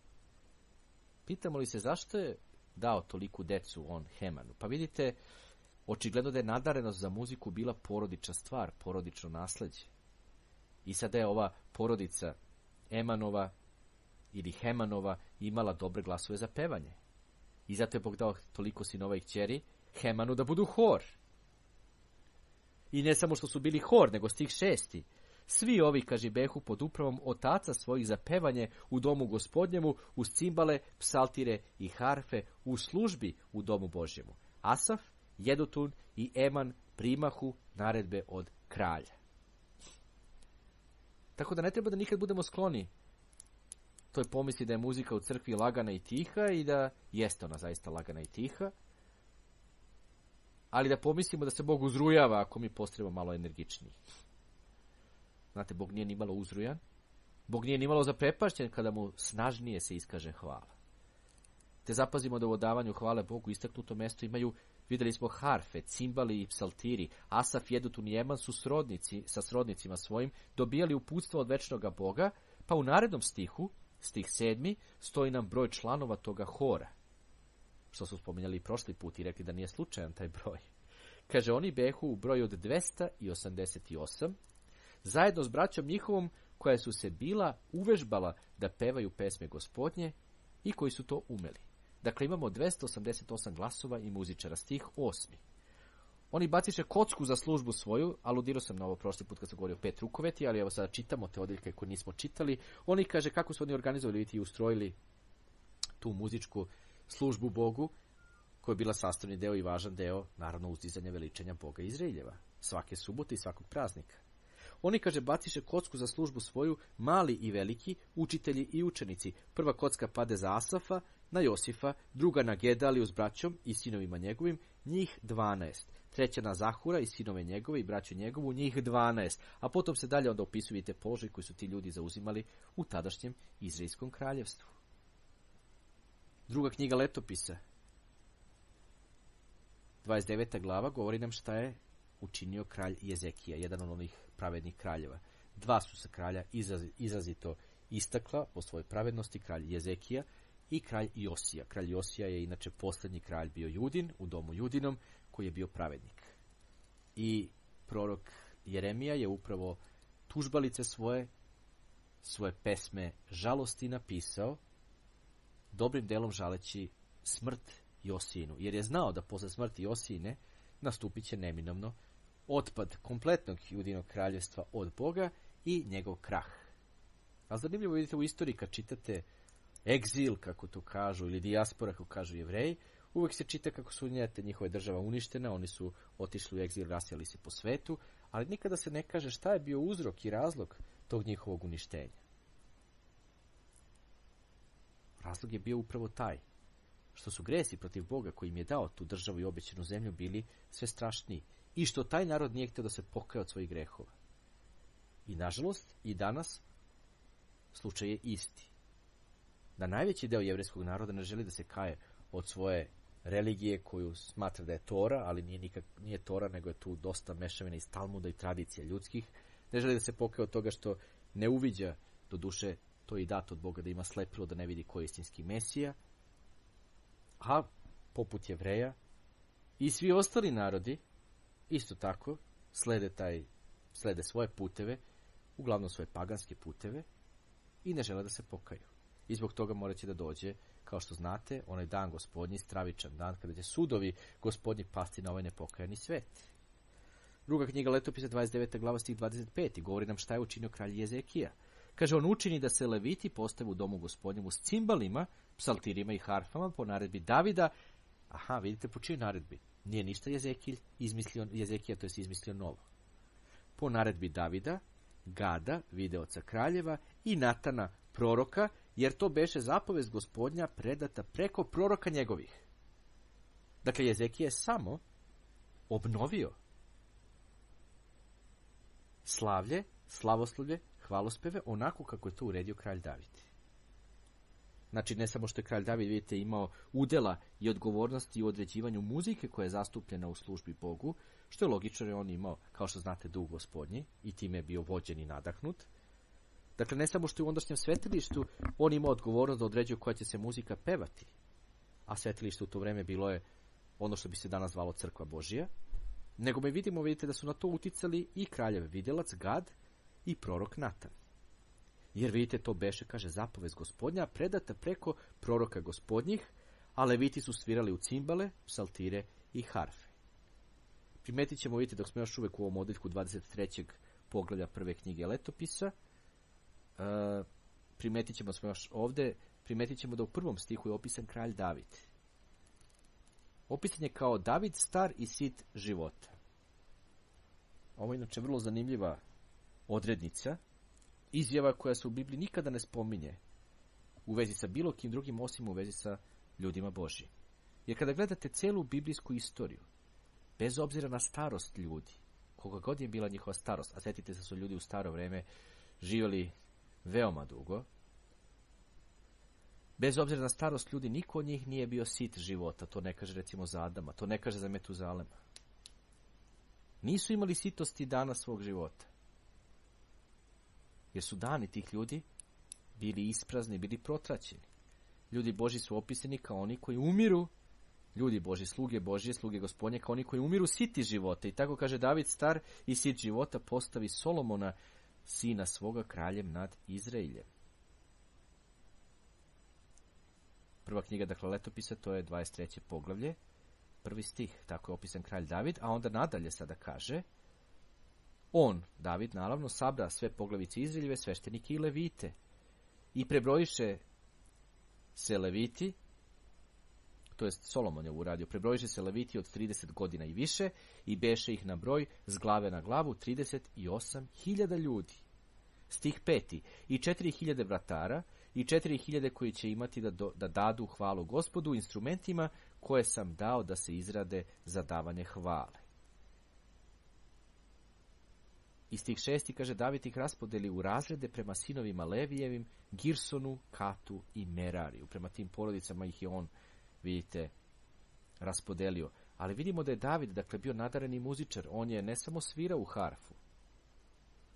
Pitamo li se zašto je dao toliku decu on Hemanu? Pa vidite, očigledno da je nadarenost za muziku bila porodična stvar, porodično nasleđe. I sada je ova porodica Emanova ili Hemanova imala dobre glasove za pevanje. I zato je Bog dao toliko sinova i kćeri Hemanu da budu hor. I ne samo što su bili hor, nego stih 6. Svi ovi, kaže, behu pod upravom otaca svojih za pevanje u domu Gospodnjemu, uz cimbale, psaltire i harfe, u službi u domu Božjemu. Asaf, Jedutun i Eman primahu naredbe od kralja. Tako da ne treba da nikad budemo skloni to je pomisli da je muzika u crkvi lagana i tiha i da jeste ona zaista lagana i tiha, ali da pomislimo da se Bog uzrujava ako mi postavimo malo energičniji. Znate, Bog nije ni malo uzrujan, Bog nije ni malo zaprepašćen kada mu snažnije se iskaže hvala. Te zapazimo da u odavanju hvale Bogu istaknuto mesto imaju, vidjeli smo, harfe, cimbali i psaltiri. Asaf, Jedutun i Jeman su sa srodnicima svojim dobijali uputstvo od večnoga Boga, pa u narednom stihu, stih 7, stoji nam broj članova toga hora, što su spominjali i prošli put i rekli da nije slučajan taj broj. Kaže, oni behu u broju od 288, zajedno s braćom njihovom koja su se bila uvežbala da pevaju pesme Gospodnje i koji su to umeli. Dakle, imamo 288 glasova i muzičara. Stih 8. Oni baciše kocku za službu svoju, aludirao sam na ovo prošli put kad sam govorio 5 rukoveti, ali evo sada čitamo te odjeljke koje nismo čitali. Oni, kaže, kako su oni organizovali i ustrojili tu muzičku službu Bogu, koja je bila sastavni deo i važan deo, naravno, uzdizanja veličanja Boga Izraeljeva, svake subote i svakog praznika. Oni, kaže, baciše kocku za službu svoju, mali i veliki, učitelji i učenici. Prva kocka pade za Asafa, na Josifa, druga na Gedaliju s braćom i sinovima njegovim, njih 12. Treća na Zahura i sinove njegove i braću njegovu, njih 12. A potom se dalje onda opisuju te položaje koji su ti ljudi zauzimali u tadašnjem Izraelskom kraljevstvu. Druga knjiga Letopisa, 29. glava, govori nam šta je učinio kralj Jezekija, jedan od onih pravednih kraljeva. Dva su se kralja izrazito istakla po svojoj pravednosti, kralj Jezekija i kralj Josija. Kralj Josija je inače posljednji kralj bio Judin, u domu Judinom, koji je bio pravednik. I prorok Jeremija je upravo tužbalice svoje pesme žalosti napisao, dobrim delom žaleći smrt Josijinu, jer je znao da posle smrti Josijine nastupit će neminovno otpad kompletnog Judinog kraljevstva od Boga i njegov krah. A zanimljivo vidite u istoriji kad čitate egzil, kako to kažu, ili dijaspora, kako kažu Jevreji, uvek se čita kako su njihove država uništena, oni su otišli u egzil, rasijali se po svetu, ali nikada se ne kaže šta je bio uzrok i razlog tog njihovog uništenja. Razlog je bio upravo taj, što su gresi protiv Boga koji im je dao tu državu i obećanu zemlju bili sve strašniji i što taj narod nije htio da se pokaje od svojih grehova. I nažalost, i danas slučaj je isti. Da najveći deo jevrejskog naroda ne želi da se kaje od svoje religije koju smatra da je Tora, ali nije Tora, nego je tu dosta mešavina iz Talmuda i tradicija ljudskih. Ne želi da se pokaje od toga što ne uviđa, do duše, to je i dato od Boga da ima slepilo da ne vidi ko je istinski Mesija, a poput Jevreja i svi ostali narodi isto tako slede svoje puteve, uglavnom svoje paganske puteve, i ne žele da se pokaju. I zbog toga morat će da dođe, kao što znate, onaj dan Gospodnji, stravičan dan, kada će sudovi Gospodnji pasti na ovaj nepokajani svet. Druga knjiga Letopisa, 29. glava, stih 25. govori nam šta je učinio kralj Jezekija. Kaže, on učini da se leviti postave u domu Gospodnjemu s cimbalima, psaltirima i harfama po naredbi Davida. Aha, vidite po čijoj naredbi. Nije ništa Jezekija, to je izmislio novo. Po naredbi Davida, Gada, videoca kraljeva, i Natana, proroka, jer to beše zapovest Gospodnja predata preko proroka njegovih. Dakle, Jezekija je samo obnovio slavlje, slavoslavlje, hvalospeve, onako kako je to uredio kralj David. Znači, ne samo što je kralj David, vidite, imao udela i odgovornosti u određivanju muzike koja je zastupljena u službi Bogu, što je logično, jer on imao, kao što znate, duh Gospodnji i time je bio vođen i nadahnut. Dakle, ne samo što je u ondašnjem svetilištu on imao odgovornost da određuje koja će se muzika pevati, a svetilište u to vreme bilo je ono što bi se danas zvalo crkva Božija, nego vidite da su na to uticali i kraljev videlac Gad i prorok Natan. Jer vidite, to beše, kaže, zapovest Gospodnja predata preko proroka Gospodnjih, a leviti su svirali u cimbale, psaltire i harfe. Primetit ćemo, vidite, dok smo još uvek u ovom odjeljku 23. poglavlja prve knjige Letopisa, primetit ćemo da u prvom stihu je opisan kralj David. Opisan je kao David, star i sit života. Ovo je inače vrlo zanimljiva odrednica, izjava koja se u Bibliji nikada ne spominje, u vezi sa bilo kim drugim osim u vezi sa ljudima Božjim. Jer kada gledate celu biblijsku istoriju, bez obzira na starost ljudi, koga god je bila njihova starost, a sjetite se da su ljudi u staro vreme živjeli veoma dugo, bez obzira na starost ljudi, niko od njih nije bio sit života. To ne kaže recimo za Adama, to ne kaže za Metuzalema. Nisu imali sitosti dana svog života. Jer su dani tih ljudi bili isprazni, bili protraćeni. Ljudi Božji su opisani kao oni koji umiru, ljudi Božji, sluge Božje, sluge Gospodnje, kao oni koji umiru siti života. I tako kaže David star i sit života postavi Solomona, sina svoga, kraljem nad Izraeljem. Prva knjiga, dakle, Letopisa, to je 23. poglavlje, 1. stih, tako je opisan kralj David, a onda nadalje sada kaže, on, David, naravno, sabra sve poglavice Izraeljeve, sveštenike i levite, i prebrojiše se leviti, to jest Solomon je uradio, prebrojiše se leviti od 30 godina i više, i beše ih na broj s glave na glavu 38.000 ljudi. Stih 5. I 4.000 vratara, i 4.000 koji će imati da dadu hvalu Gospodu instrumentima koje sam dao da se izrade za davanje hvale. I stih 6. kaže, David ih raspodeli u razrede prema sinovima Levijevim, Girsonu, Katu i Merariju. Prema tim porodicama ih je on, vidite, raspodelio. Ali vidimo da je David, dakle, bio nadareni muzičar. On je ne samo svirao u harfu,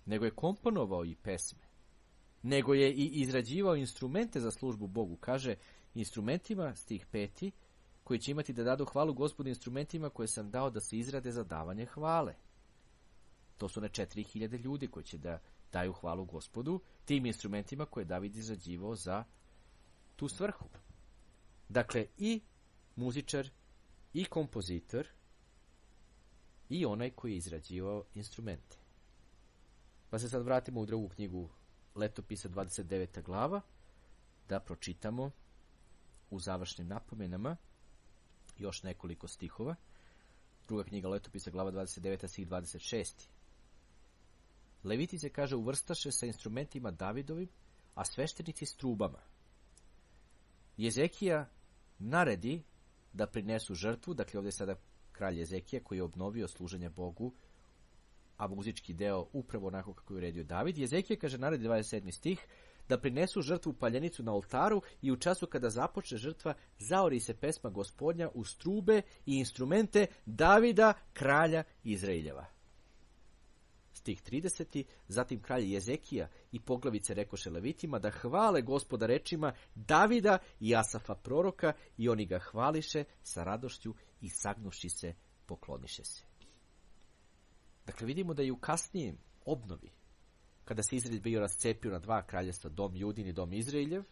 nego je komponovao i pesme, nego je i izrađivao instrumente za službu Bogu. Kaže, instrumentima, stih 5, koji će imati da dadu hvalu Gospodu instrumentima koje sam dao da se izrade za davanje hvale. To su na 4.000 ljudi koji će da daju hvalu Gospodu tim instrumentima koje je David izrađivao za tu svrhu. Dakle, i muzičar, i kompozitor, i onaj koji je izrađivao instrumente. Pa se sad vratimo u drugu knjigu Letopisa, 29. glava, da pročitamo u završnim napomenama još nekoliko stihova. Druga knjiga Letopisa, glava 29. stih 26. Leviti se, kaže, uvrstaše sa instrumentima Davidovim, a sveštenici s trubama. Jezekija naredi da prinesu žrtvu, dakle ovdje je sada kralj Jezekija koji je obnovio služenje Bogu, a muzički deo upravo onako kako je uredio David. Jezekija, kaže, naredi 27. stih, da prinesu žrtvu paljenicu na oltaru i u času kada započne žrtva zaori se pesma Gospodnja uz trube i instrumente Davida, kralja Izraeljeva. Stih 30. Zatim kralj Jezekija i poglavice rekoše levitima da hvale Gospoda rečima Davida i Asafa proroka, i oni ga hvališe sa radošću i sagnuši se pokloniše se. Dakle, vidimo da je u kasnijem obnovi, kada se Izrael bio rascepio na dva kraljestva, dom Judin i dom Izraeljev,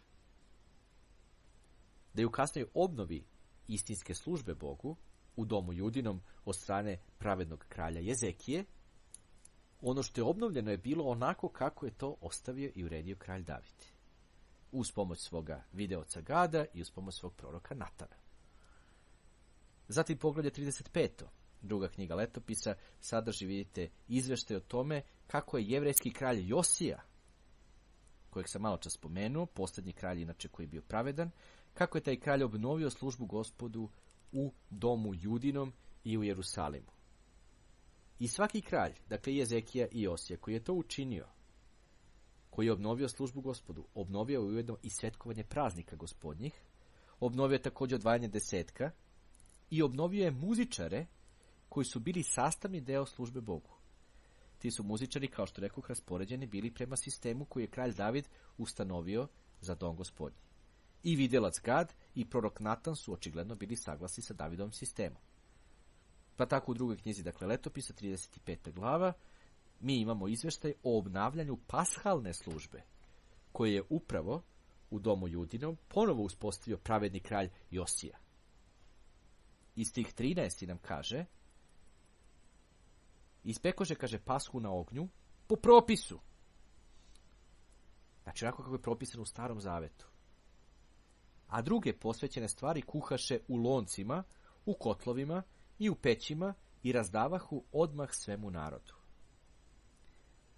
da je u kasnijoj obnovi istinske službe Bogu u domu Judinom od strane pravednog kralja Jezekije, ono što je obnovljeno je bilo onako kako je to ostavio i uredio kralj David, uz pomoć svoga videoca Gada i uz pomoć svog proroka Natana. Zatim poglavlje 35. Druga knjiga Letopisa sadrži, vidite, izveštaj o tome kako je jevrejski kralj Josija, kojeg sam malo čas spomenuo, posljednji kralj inače koji je bio pravedan, kako je taj kralj obnovio službu Gospodu u domu Judinom i u Jerusalimu. I svaki kralj, dakle Jezekija i Josija, koji je to učinio, koji je obnovio službu Gospodu, obnovio je ujedno i svetkovanje praznika Gospodnjih, obnovio je također odvajanje desetka i obnovio je muzičare koji su bili sastavni deo službe Bogu. Ti su muzičari, kao što rekoh, raspoređeni bili prema sistemu koji je kralj David ustanovio za dom Gospodnji. I videlac Gad i prorok Natan su očigledno bili saglasni sa Davidovim sistemom. Pa tako u drugoj knjizi, dakle Letopisa, 35. glava, mi imamo izveštaj o obnavljanju pashalne službe, koje je upravo u domu Judinom ponovo uspostavio pravedni kralj Josija. Iz tih 13. nam kaže, ispekože, kaže, pashu na ognju po propisu. Znači, onako kako je propisano u Starom Zavetu. A druge posvećene stvari kuhaše u loncima, u kotlovima i u pećima i razdavahu odmah svemu narodu.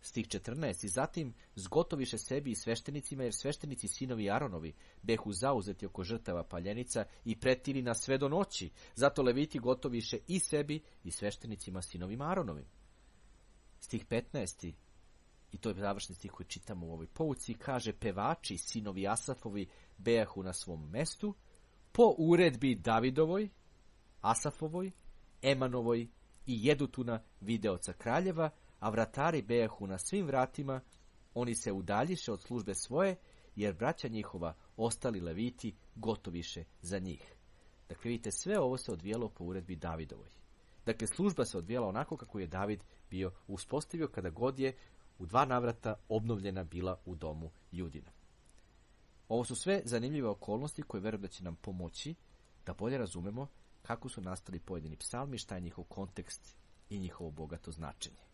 Stih 14. I zatim zgotoviše sebi i sveštenicima, jer sveštenici sinovi Aronovi behu zauzeti oko žrtava paljenica i pretili na sve do noći. Zato leviti gotoviše i sebi i sveštenicima sinovima Aronovim. Stih 15. I to je završni stih koji čitamo u ovoj pouci, kaže pevači sinovi Asafovi bejahu na svom mestu po uredbi Davidovoj, Asafovoj, Emanovoj i Jedutuna videoca kraljeva, a vratari bejahu na svim vratima, oni se udaljiše od službe svoje, jer braća njihova, ostali leviti, gotoviše za njih. Dakle, vidite, sve ovo se odvijalo po uredbi Davidovoj. Dakle, služba se odvijala onako kako je David bio uspostavio kada god je u 2 navrata obnovljena bila u domu Judina. Ovo su sve zanimljive okolnosti koje verujem da će nam pomoći da bolje razumemo kako su nastali pojedini psalmi, šta je njihov kontekst i njihovo bogato značenje.